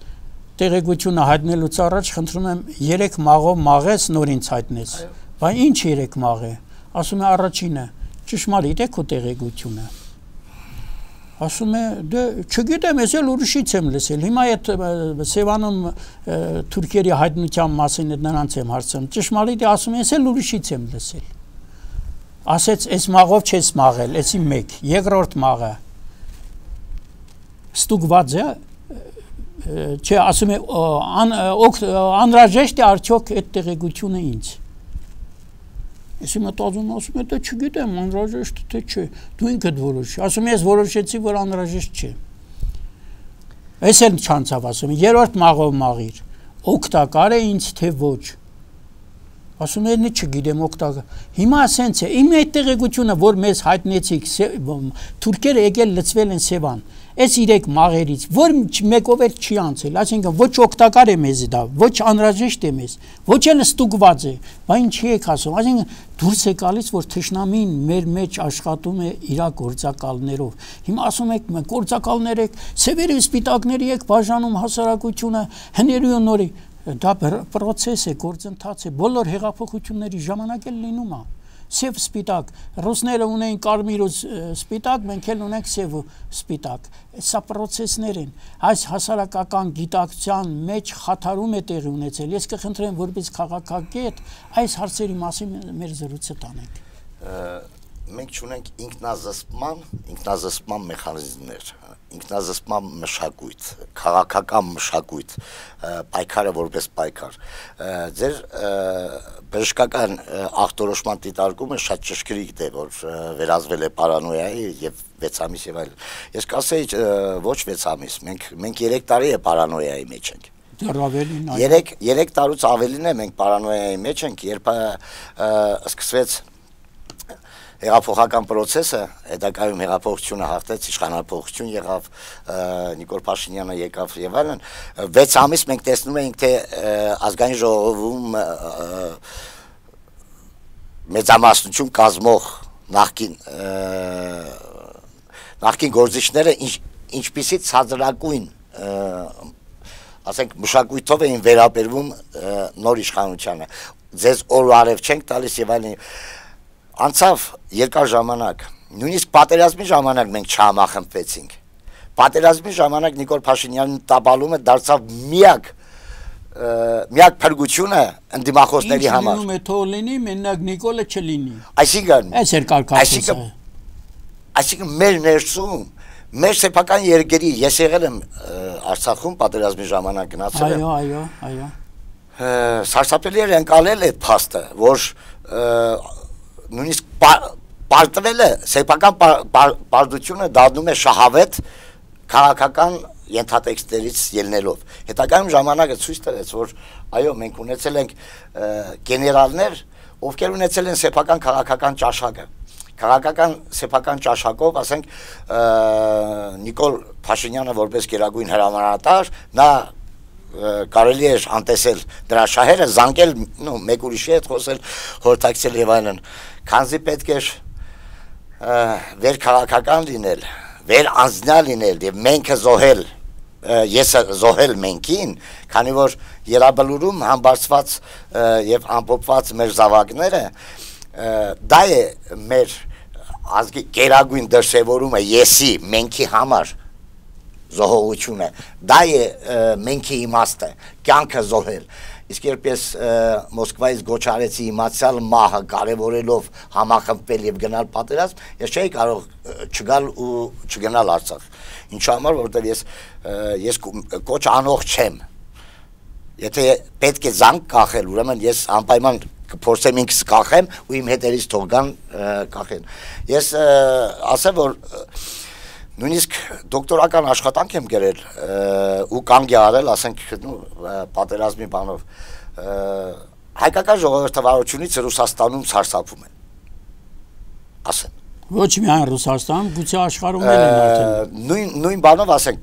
տեղեկությունը հայտնելուց առաջ խնդրում եմ երեք մաղով մաղես նոր ինձ հայտնես։ Բայց ինչ երեք մաղ է։ Ասում է, առաջինը, ճշմարիտ է քո տեղեկությունը։ Ասում է, դե չգիտեմ, ես էլ ուրիշից եմ լսել։ Հիմա այդ Սևանում թուրքերի հայտնության մասին նրանց եմ հարցնում։ Ճշմարիտ է, ասում եմ, ես էլ ուրիշից եմ լսել։ Ասեց, այս մաղով չես մաղել, էսի մեկ, երկրորդ մաղը ստուգված է, չէ, ասում է, անհրաժեշտ է արդյոք այդ տեղեկությունը ինձ։ Ես մտածում ասում եմ, դե չգիտեմ, անհրաժեշտ թե չէ, դու ինքդ որոշի, ասում ես որոշեցի, որ անհրաժեշտ չէ։ Ես էլ չանցավ ասում, երրորդ մաղով մաղիր, օգտակար է ինձ թե ոչ։ ասում են չգիտեմ օգտակա հիմա ասենց է իմ այդ տեղեկությունը որ մեզ հայտնեցիք թուրքերը եկել լծվել են Սևան այս իրեք մաղերից որ մեկով էլ չի անցել այսինքն ոչ օգտակար է մեզ դա ոչ անհրաժեշտ է մեզ ոչ էլ ստուգված է բա ինչի եք ասում այսինքն դուրս է գալիս որ թշնամին մեր մեջ աշխատում է իր գործակալներով հիմա ասում եք մենք գործակալներ եք սևերի սպիտակների եք բաժանում հասարակությունը հների ու նորի դա process է, գործընթաց է, բոլոր հեղափոխությունների ժամանակ էլ լինում է։ Սև սպիտակ, ռուսները ունեն կարմիր ու սպիտակ, մենք էլ ունենք սև ու սպիտակ։ Սա process-ներ են։ Այս հասարակական գիտակցության մեջ խաթարում է տեղի ունեցել։ Ես կխնդրեմ, որպես քաղաքագետ, այս հարցերի մասին մեր զրույցը տանենք։ Մենք ունենք ինքնազսպման, ինքնազսպման մեխանիզմներ, ինքնազսպման մշակույթ, քաղաքական մշակույթ, պայքարը որպես պայքար։ Ձեր բժշկական ախտորոշման դիտարկումը շատ ճշգրիտ է, որ վերածվել է պարանոյայի եւ վեց ամիս եւ այլն։ Ես կասեի ոչ վեց ամիս, մենք մենք երեք տարի է պարանոյայի մեջ ենք։ Դեռ ավելին։ երեք տարուց ավելին է մենք պարանոյայի մեջ ենք, երբ սկսվեց հեղափոխական process-ը, հետագայում հեղափոխությունը հաղթեց, իշխանափոխություն եղավ, Նիկոլ Փաշինյանը եկավ եւ այլն, վեց ամիս մենք տեսնում էինք, թե ազգային ժողովում մեծամասնություն կազմող նախկին նախկին գործիչները ինչպիսի ցածրակույն ասենք մշակույթով էին վերաբերվում նոր իշխանությանը, ձեզ օր ու արև չենք տալիս եւ այլն Անցավ երկար ժամանակ, նույնիսկ պատերազմի ժամանակ մենք չհամախմբվեցինք։ Պատերազմի ժամանակ Նիկոլ Փաշինյանի տապալումը դարձավ միակ միակ փրկությունը ընդդիմախոսների համար։ Ինչ լինում է թող լինի, մենակ Նիկոլը չլինի։ Այսինքն, այս էր կարգախոսը։ Այսինքն մեր ներսում, մեր սեփական երկրի, ես եղել եմ Արցախում պատերազմի ժամանակ գնացել եմ։ Այո, այո, այո։ Սարսափելի էր ընկալել այդ փաստը, որ նույնիսկ պարտվել է, սեփական պարտությունը դառնում է շահավետ քաղաքական ենթատեքստերից ելնելով։ Հետագայում ժամանակը ցույց տվեց, որ այո, մենք ունեցել ենք գեներալներ, ովքեր ունեցել են սեփական քաղաքական ճաշակը։ Քաղաքական սեփական ճաշակով, ասենք, Նիկոլ Փաշինյանը որպես գերագույն հրամանատար, նա կարելի էր անտեսել դրա շահերը, զանգել, մեկ ուրիշի հետ խոսել, խորհրդակցել եւ այլն, քանզի պետք էր վեր քաղաքական լինել, վեր անձնյալ լինել եւ menքը զոհել, եսը զոհել menքին, քանի որ Ելաբլուրում համբարձված եւ ամփոփված մեր զավակները, դա է մեր ազգի գերագույն դրսևորումը եսի menքի համար զոհողությունը, դա է menքի իմաստը, կյանքը զոհել։ Իսկ երբ ես Մոսկվայից գոչ արեցի իմացյալ մահը կարևորելով համախմբվել եւ գնալ պատերազմ, ես չէի կարող չգալ ու չգնալ Արցախ։ Ինչու համար, որովհետեւ ես ես կոչ անող չեմ։ Եթե պետք է զանգ կախել, ուրեմն ես անպայման կփորձեմ ինքս կախեմ ու իմ հետերից թող գան կախեն։ Ես ասեմ, որ նույնիսկ դոկտորական աշխատանք եմ գրել ու կանգ է արել, ասենք, պատերազմի բանով, հայկական ժողովրդավարությունից Ռուսաստանում սարսափում են, ասեն։ Ոչ միայն Ռուսաստան, գուցե աշխարհում էլ են արդեն։ Նույն բանով, ասենք,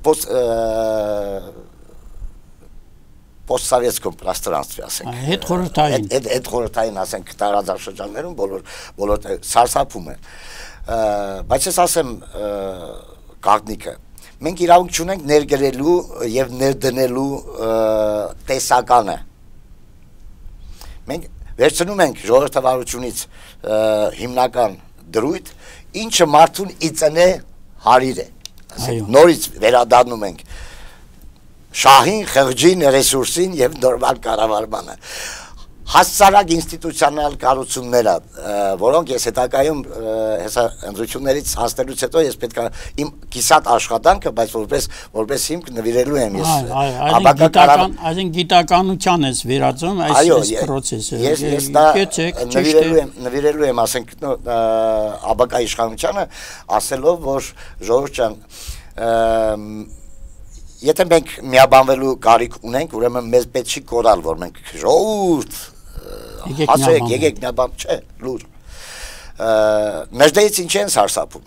post-sovetskом пространстве, ասենք։ Հետ խորհրդային։ Հետ խորհրդային, ասենք, տարածաշրջաններում բոլոր սարսափում են։ Բայց ես ասեմ Գաղտնիքը, մենք իրավունք չունենք ներգրելու եւ ներդնելու տեսականը։ Մենք վերցնում ենք ժողովրդավարությունից հիմնական դրույթ, ինչը մարդուն իծնե հարիր է։ Ասենք, նորից վերադառնում ենք շահին, խղճին, ռեսուրսին եւ նորմալ կառավարմանը։ Հասարակ ինստիտուցիոնալ կառուցումները, որոնք ես հետագայում հեսա ընտրություններից հասնելուց հետո ես պետք է իմ կիսատ աշխատանքը, բայց որպես որպես հիմք նվիրելու եմ ես այսին գիտականության ես վերածում այս process-ը։ Ես ես դա նվիրելու եմ, նվիրելու եմ, ասենք, աբակա իշխանությանը, ասելով, որ ժողովուրդ ջան, եթե մենք միաբանվելու կարիք ունենք, ուրեմն մեզ պետք չի կորալ, որ մենք ժողովուրդ հասեք, եկեք նա բան չէ, լուր։ Ներդեից ինչ են սարսափում։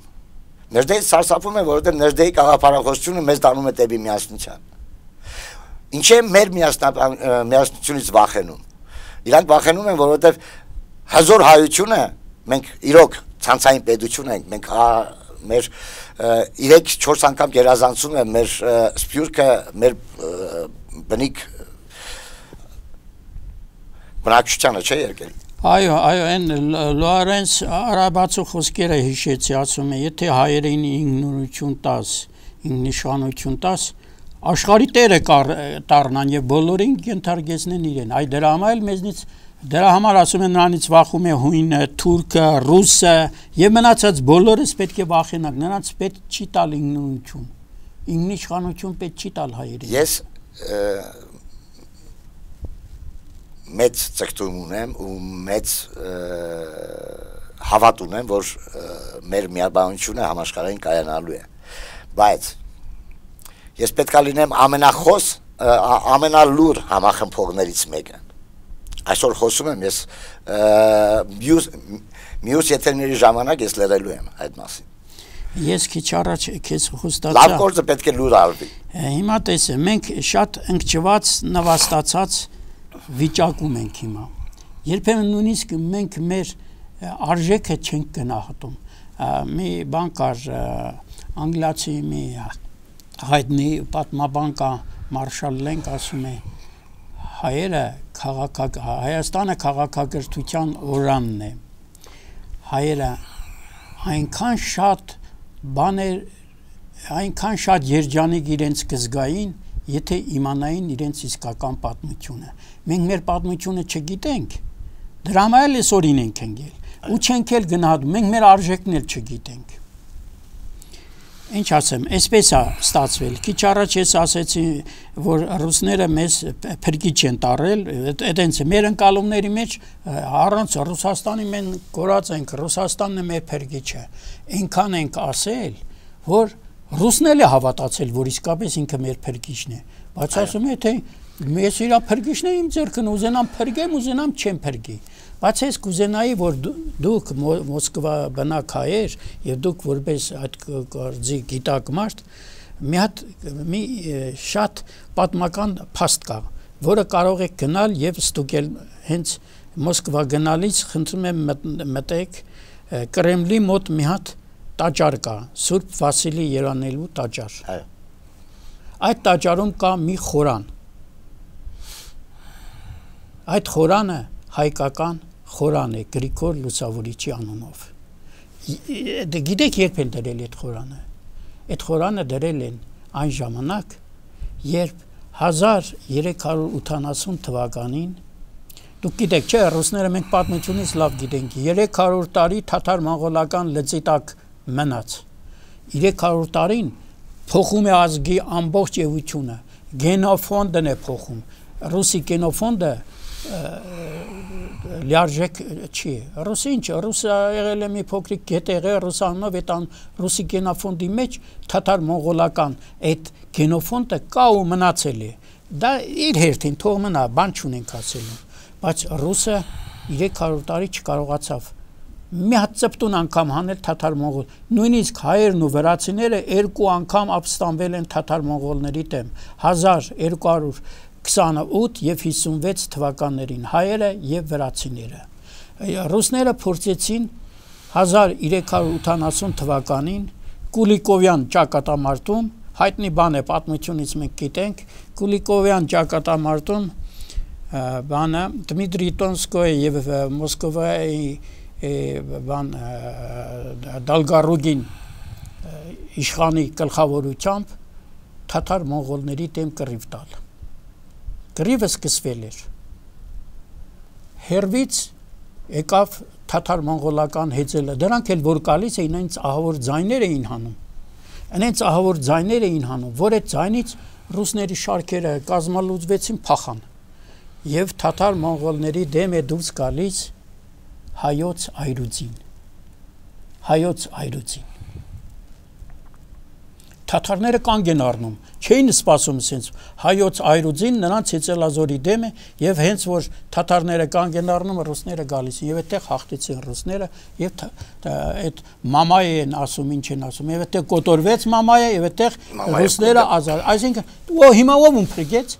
Ներդեից սարսափում է, որովհետև ներդեի գաղափարախոսությունը մեզ տանում է դեպի միասնության։ Ինչ է մեր միասնությունից վախենում։ Իրանք վախենում են, որովհետև հզոր հայությունը մենք իրոք ցանցային պետություն ենք, մենք մեր երեք-չորս անգամ գերազանցում է մեր սփյուռքը, մեր բնիկ բնակչությանը չէ եկել։ Այո, այո, այն Լորենս արաբացու խոսքերը հիշեցի, ասում է, եթե հայերին ինքնուրույնություն տաս, ինքնիշխանություն տաս, աշխարհի տերը դառնան եւ բոլորին կընթարգեցնեն իրեն։ Այ դրա համար էլ մեզնից դրա համար ասում են նրանից վախում է հույնը, թուրքը, ռուսը եւ մնացած բոլորս պետք է վախենանք, նրանց պետք չի տալ ինքնուրույնություն։ Ինքնիշխանություն պետք չի տալ հայերին։ Ես մեծ ցկտում ունեմ ու մեծ հավատ ունեմ, որ մեր միաբանությունը համաշխարհային կայանալու է։ Բայց ես պետք է լինեմ ամենախոս, ամենալուր համախմբողներից մեկը։ Այսօր խոսում եմ ես մյուս եթերների ժամանակ ես լրելու եմ այդ մասին։ Ես քիչ առաջ քեզ խոստացա։ Լավ գործը պետք է լուր արվի։ Հիմա տեսե, մենք շատ ընկճված, նվաստացած վիճակում ենք հիմա։ Երբեմն նույնիսկ մենք մեր արժեքը չենք գնահատում։ Մի բան կար, անգլիացի մի հայտնի պատմաբան կա, Մարշալ Լենք ասում է, հայերը Հայաստանը քաղաքակրթության օրանն է։ Հայերը այնքան շատ բաներ, այնքան շատ երջանիկ իրենց կզգային, եթե իմանային իրենց իսկական պատմությունը։ Մենք մեր պատմությունը չգիտենք, դրա համար էլ այսօրին ենք ընկել ու չենք էլ գնահատում, մենք մեր արժեքն էլ չգիտենք։ Ինչ ասեմ, այսպես է ստացվել։ Քիչ առաջ ես ասեցի, որ ռուսները մեզ փրկիչ են տարել, այդենց է մեր ընկալումների մեջ առանց Ռուսաստանի մենք կորած ենք, Ռուսաստանն է մեր փրկիչը։ Այնքան ենք ասել, որ ռուսն էլ է հավատացել, որ իսկապես ինքը մեր փրկիչն է։ Բայց ասում է, թե ես իր փրկիչն եմ իմ ձեռքն ուզենամ փրկեմ, ուզենամ չեմ փրկի։ Բայց ես կուզենայի, որ դուք Մոսկվա բնակ հայեր եւ դուք որպես այդ գործի գիտակ մարդ մի հատ մի շատ պատմական փաստ կա, որը կարող եք գնալ եւ ստուգել հենց Մոսկվա գնալից խնդրում եմ մտեք Կրեմլի մոտ մի հատ տաճար կա, Սուրբ Վասիլի երանելու տաճար։ Այո։ Այդ տաճարում կա մի խորան։ Այդ խորանը հայկական խորան է Գրիգոր Լուսավորիչի անունով։ Գիտեք երբ են դրել այդ խորանը։ Այդ խորանը դրել են այն ժամանակ, երբ հազար երեք հարյուր ութանասուն թվականին, դուք գիտեք, չէ, ռուսները մենք պատմությունից լավ գիտենք, երեք հարյուր տարի թաթար-մոնղոլական լծի տակ մնաց։ երեք հարյուր տարին փոխում է ազգի ամբողջ էությունը, գենոֆոնդն է փոխում։ Ռուսի գենոֆոնդը լիարժեք չի։ Ռուսը ինչ, ռուսը եղել է մի փոքրիկ գետեղը, ռուսանով այդ ռուսի գենոֆոնդի մեջ թաթար-մոնղոլական այդ գենոֆոնդը կա ու մնացել է։ Դա իր հերթին թող մնա, բան չունենք ասելու։ Բայց ռուսը երեք հարյուր տարի չկարողացավ մի հատ ծպտուն անգամ հանել թաթար-մոնղոլ։ Նույնիսկ հայերն ու վրացիները երկու անգամ ապստամբել են թաթար-մոնղոլների դեմ հազար երկու հարյուր քսանութ եւ հիսունվեց թվականներին հայերը եւ վրացիները։ Ռուսները փորձեցին հազար երեք հարյուր ութանասուն թվականին Կուլիկովյան ճակատամարտում, հայտնի բան է պատմությունից մենք գիտենք, Կուլիկովյան ճակատամարտում բանը Դմիտրի Տոնսկոյը եւ Մոսկվայի բան Դալգարուգին իշխանի գլխավորությամբ թաթար-մոնղոլների դեմ կռիվ տալ։ Կռիվը սկսվել էր։ Հերվից եկավ թաթար-մոնղոլական հեծելը, դրանք էլ որ գալիս էին, այնց ահավոր ձայներ էին հանում։ Այնց ահավոր ձայներ էին հանում, որ այդ ձայնից ռուսների շարքերը կազմալուծվեցին, փախան։ Եվ թաթար-մոնղոլների դեմ է դուրս գալիս հայոց այրուձին։ Հայոց այրուձին։ թաթարները կանգ են առնում, չէին սպասում ասենց հայոց այրուձին նրանց Ցեծելազորի դեմը եւ հենց որ թաթարները կանգ են առնում ռուսները գալիս են եւ այդտեղ հաղթեցին ռուսները եւ այդ մամայ են ասում ինչ են ասում եւ այդտեղ կոտորվեց մամայը եւ այդտեղ ռուսները ազատ այսինքն ու հիմա ով ում փրկեց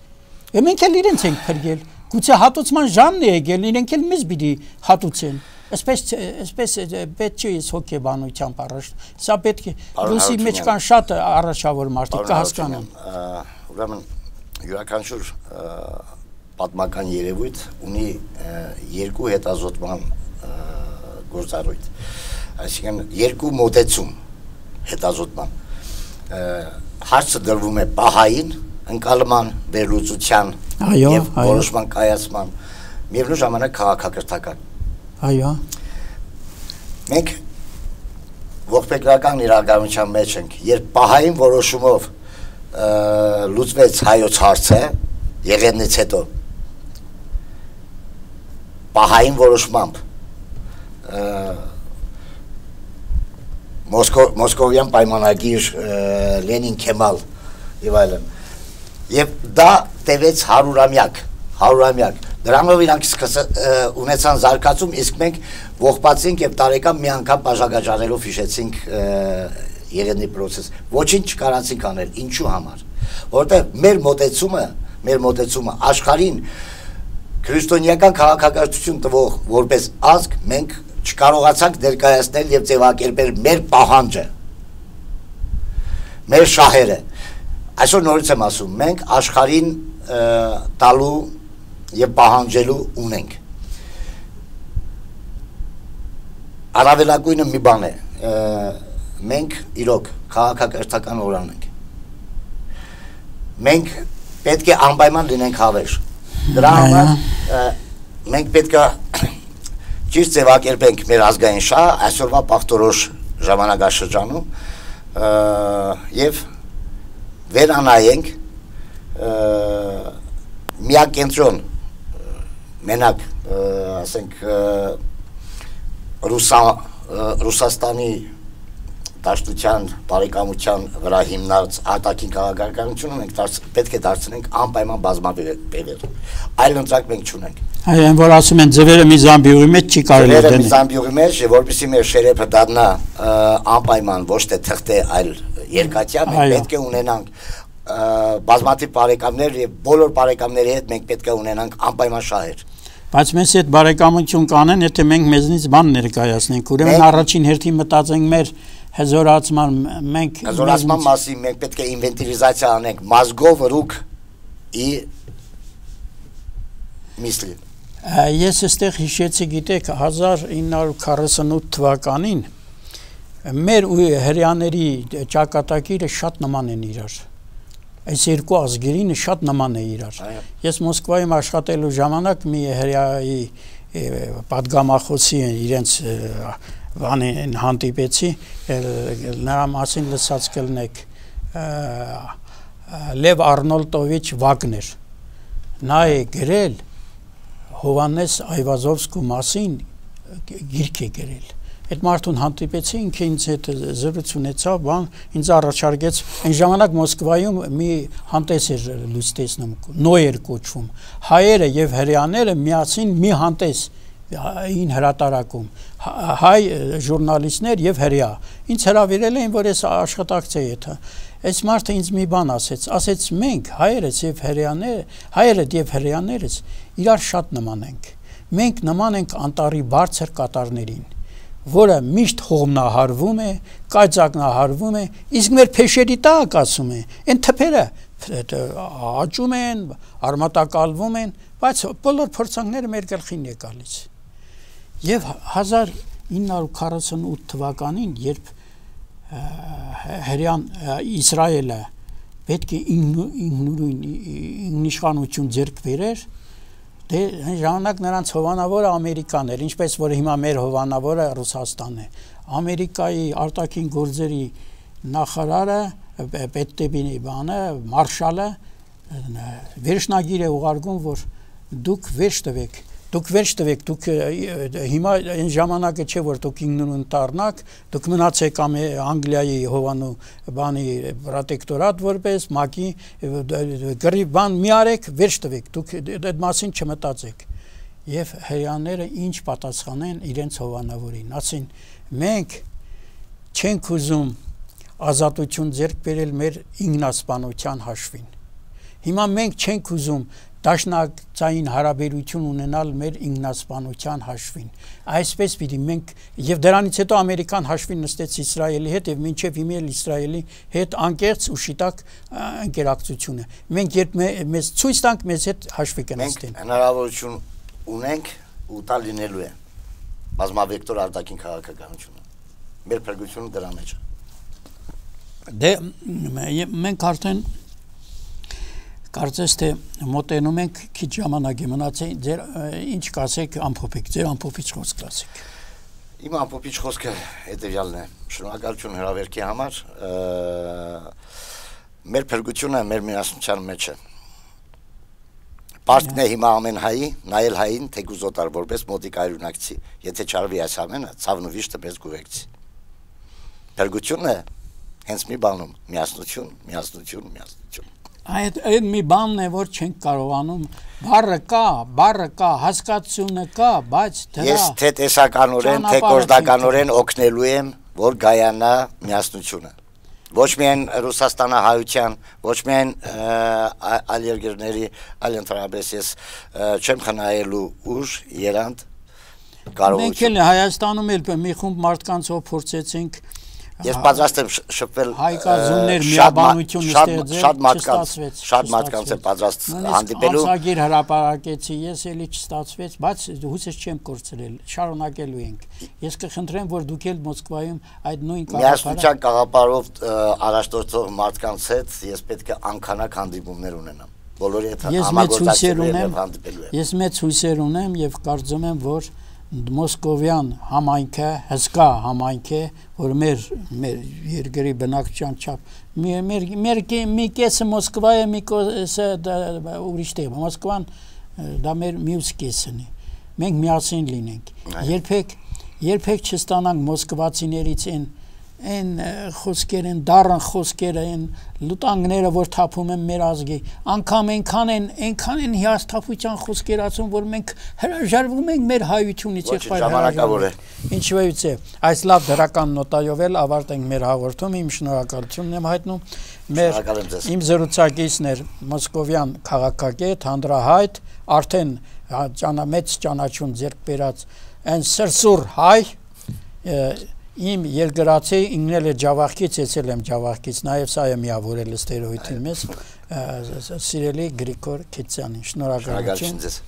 եւ մենք էլ իրենց ենք փրկել գուցե հատուցման ժամն է եկել իրենք էլ մեզ պիտի հատուցեն Այսպես այսպես պետք չի հոգեբանությամբ առաջ։ Սա պետք է ռուսի մեջ կան շատ առաջավոր մարդիկ կհասկանան։ Ուրեմն յուրաքանչյուր պատմական երևույթ ունի երկու հետազոտման գործառույթ։ Այսինքն երկու մոտեցում հետազոտման։ Հարցը դրվում է պահային, ընկալման, վերլուծության եւ որոշման կայացման, միևնույն ժամանակ քաղաքակրթական Այո։ Մենք ողբերգական իրականության մեջ ենք, երբ պահային որոշումով լուծվեց հայոց հարցը, եղեդնից հետո պահային որոշմամբ Մոսկովյան պայմանագիր Լենին Քեմալ եւ այլն։ Եվ դա տևեց հարյուրամյակ, հարյուրամյակ Դրանով իրանք ունեցան զարգացում, իսկ մենք ողբացինք եւ տարեկան մի անգամ բաժակաճառելով հիշեցինք եղեդնի process։ Ոչինչ չկարացինք անել, ինչու համար։ Որտեղ մեր մոտեցումը, մեր մոտեցումը աշխարհին քրիստոնեական քաղաքակրթություն տվող որպես ազգ մենք չկարողացանք ներկայացնել եւ ձևակերպել մեր պահանջը։ Մեր շահերը։ Այսօր նորից եմ ասում, մենք աշխարհին տալու եւ պահանջելու ունենք։ Առավելագույնը մի բան է, մենք իրոք քաղաքակրթական օրան ենք։ Մենք պետք է անպայման լինենք հավերժ։ Դրա համար մենք պետք է ճիշտ ձևակերպենք մեր ազգային շահը այսօրվա պաղտորոշ ժամանակաշրջանում եւ վերանայենք միակենտրոն մենակ ասենք Ռուսաստանի դաշտության, բարեկամության վրա հիմնած արտաքին քաղաքականությունը մենք պետք է դարձնենք անպայման բազմաբևեռ։ Այլ ընտրակ մենք չունենք։ Այն որ ասում են ձվերը մի զամբյուղի մեջ չի կարելի դնել։ Ձվերը մի զամբյուղի մեջ, որպեսզի մեր շերեփը դառնա անպայման ոչ թե թղթե, այլ երկաթյա, մենք պետք է ունենանք բազմաթիվ բարեկամներ եւ բոլոր բարեկամների հետ մենք պետք է ունենանք անպայման շահեր։ Բայց մենք այդ բարեկամություն կանեն, եթե մենք մեզնից բան ներկայացնենք, ուրեմն առաջին հերթին մտածենք մեր հզորացման, մենք հզորացման մասին մենք պետք է ինվենտարիզացիա անենք մազգով ռուկ ի միսլի։ Ես այստեղ հիշեցի, գիտեք, հազար ինը հարյուր քառասունութ թվականին մեր ու հрьяաների ճակատագիրը շատ նման են իրար։ Այս երկու ազգերին շատ նման է իրար։ Ես Մոսկվայում աշխատելու ժամանակ մի հրեայի պատգամախոսի իրենց բանին հանդիպեցի, նրա մասին լսած կլնեք Լև Արնոլտովիչ Վագներ։ Նա է գրել Հովանես Այվազովսկու մասին գիրք է գրել։ Այդ մարդուն հանդիպեցի, ինքը ինձ հետ զրույց ունեցավ, բան ինձ առաջարկեց, այն ժամանակ Մոսկվայում մի հանդես էր լույս տեսնում, նոյեր կոչվում։ Հայերը եւ հрьяաները միասին մի հանդես ին հրատարակում, հայ ժուրնալիստներ եւ հрья։ Ինձ հրավիրել էին, որ ես աշխատակցեի այդ։ Այս մարդը ինձ մի բան ասեց, ասեց մենք հայերս եւ հрьяաները, հայերը եւ հрьяաներս իրար շատ նման ենք։ Մենք նման ենք անտառի բարձր կատարներին, որը միշտ հողմնահարվում է, կայծակնահարվում է, իսկ մեր փեշերի տակ ասում է, այն թփերը աճում են, արմատակալվում են, բայց բոլոր փորձանքները մեր գլխին է գալիս։ Եվ հազար ինը հարյուր քառասունութ թվականին, երբ հрьяան Իսրայելը պետք է ինքնուրույն ինքնիշխանություն ձեռք բերեր, դե ժամանակ նրանց հովանավորը Ամերիկան էր, ինչպես որ հիմա մեր հովանավորը Ռուսաստանն է։ Ամերիկայի արտաքին գործերի նախարարը, պետտեպինի բանը, մարշալը վերջնագիր է ուղարկում, որ դուք վերջ տվեք դուք վերջ տվեք, դուք հիմա այն ժամանակը չէ որ դուք ինքնուրույն դառնաք, դուք մնացեք Անգլիայի Հովանու բանի պրոտեկտորատ որպես մակի գրի բան մի արեք, վերջ տվեք, դուք այդ մասին չմտածեք։ Եվ հрьяաները ինչ պատասխանեն իրենց հովանավորին, ասին մենք չենք ուզում ազատություն ձեռք բերել մեր ինքնասպանության հաշվին։ Հիմա մենք չենք ուզում դաշնակցային հարաբերություն ունենալ մեր ինքնասպանության հաշվին։ Այսպես պիտի մենք եւ դրանից հետո Ամերիկան հաշվին նստեց Իսրայելի հետ եւ մինչեւ հիմա էլ Իսրայելի հետ անկեղծ ու շիտակ ընկերակցություն է։ Մենք երբ մեզ ցույց տանք, մեզ հետ հաշվի կնստեն։ Հնարավորություն ունենք ու տա լինելու է բազմավեկտոր արտաքին քաղաքականությունը։ Մեր փրկությունը դրա մեջ է։ Դե մենք արդեն կարծես թե մոտենում ենք քիչ ժամանակ է մնացել, ձեր ինչ կասեք ամփոփեք, ձեր ամփոփիչ խոսք ասեք։ Իմ ամփոփիչ խոսքը հետևյալն է. շնորհակալություն հրավերքի համար, մեր փրկությունը մեր միասնության մեջ է։ Պարտքն է հիմա ամեն հայի, նայել հային թեկուզ օտար որպես մոտիկ այրունակցի, եթե չարվի այս ամենը, ցավն ու վիշտը մեզ կուղեկցի։ Փրկությունը հենց մի բանում, միասնություն, միասնություն, միասնություն։ Այդ այդ մի բանն է, որ չենք կարողանում, բառը կա, բառը կա, հասկացությունը կա, բայց դրա Ես թե տեսականորեն, թե գործնականորեն օգնելու եմ, որ գայանա միասնությունը։ Ոչ միայն Ռուսաստանահայության, ոչ միայն այլ երկրների, այլ ընդհանրապես ես չեմ խնայելու ուժ, երանգ, կարողություն։ Մենք էլ Հայաստանում էլ մի խումբ մարդկանցով փորձեցինք Ես պատրաստ եմ շփվել հայկազուններ միաբանություն ստեղծել, շատ մարդկանց, շատ մարդկանց է պատրաստ հանդիպելու։ Ամսագիր հրապարակեցի, ես էլի չստացվեց, բայց հույսս չեմ կորցրել, շարունակելու ենք։ Ես կխնդրեմ, որ դուք էլ Մոսկվայում այդ նույն միասնության գաղափարով առաջնորդող մարդկանց հետ ես պետք է անքանակ հանդիպումներ ունենամ։ Բոլորի հետ համագործակցելու եմ հանդիպելու եմ։ Ես մեծ հույսեր ունեմ եւ կարծում եմ, որ Մոսկովյան համայնքը հսկա համայնք է, որ մեր մեր երկրի բնակչության չափ մեր մեր մի կեսը Մոսկվա է, մի կեսը ուրիշ տեղ։ Մոսկվան դա մեր մյուս կեսն է։ Մենք միասին լինենք։ Երբեք երբեք չստանանք մոսկվացիներից այն այն խոսքեր են դառն խոսքեր են լուտանգները որ թափում են մեր ազգի անգամ այնքան են այնքան են հիասթափության խոսքեր ասում որ մենք հրաժարվում ենք մեր հայությունից եղբայր ժամանակավոր է ինչվայից է այս լավ դրական նոտայով էլ ավարտենք մեր հաղորդումը իմ շնորհակալությունն եմ հայտնում մեր իմ զրուցակիցներ Մոսկովյան քաղաքագետ հանրահայտ արդեն մեծ ճանաչում ձեռք բերած այն սրսուր հայ Իմ երկրացի ինքնել է Ջավախքից, եցել եմ Ջավախքից, նաև սա է միավորել ստերոյդի մեզ, սիրելի Գրիգոր Քիցյանին, շնորհակալություն։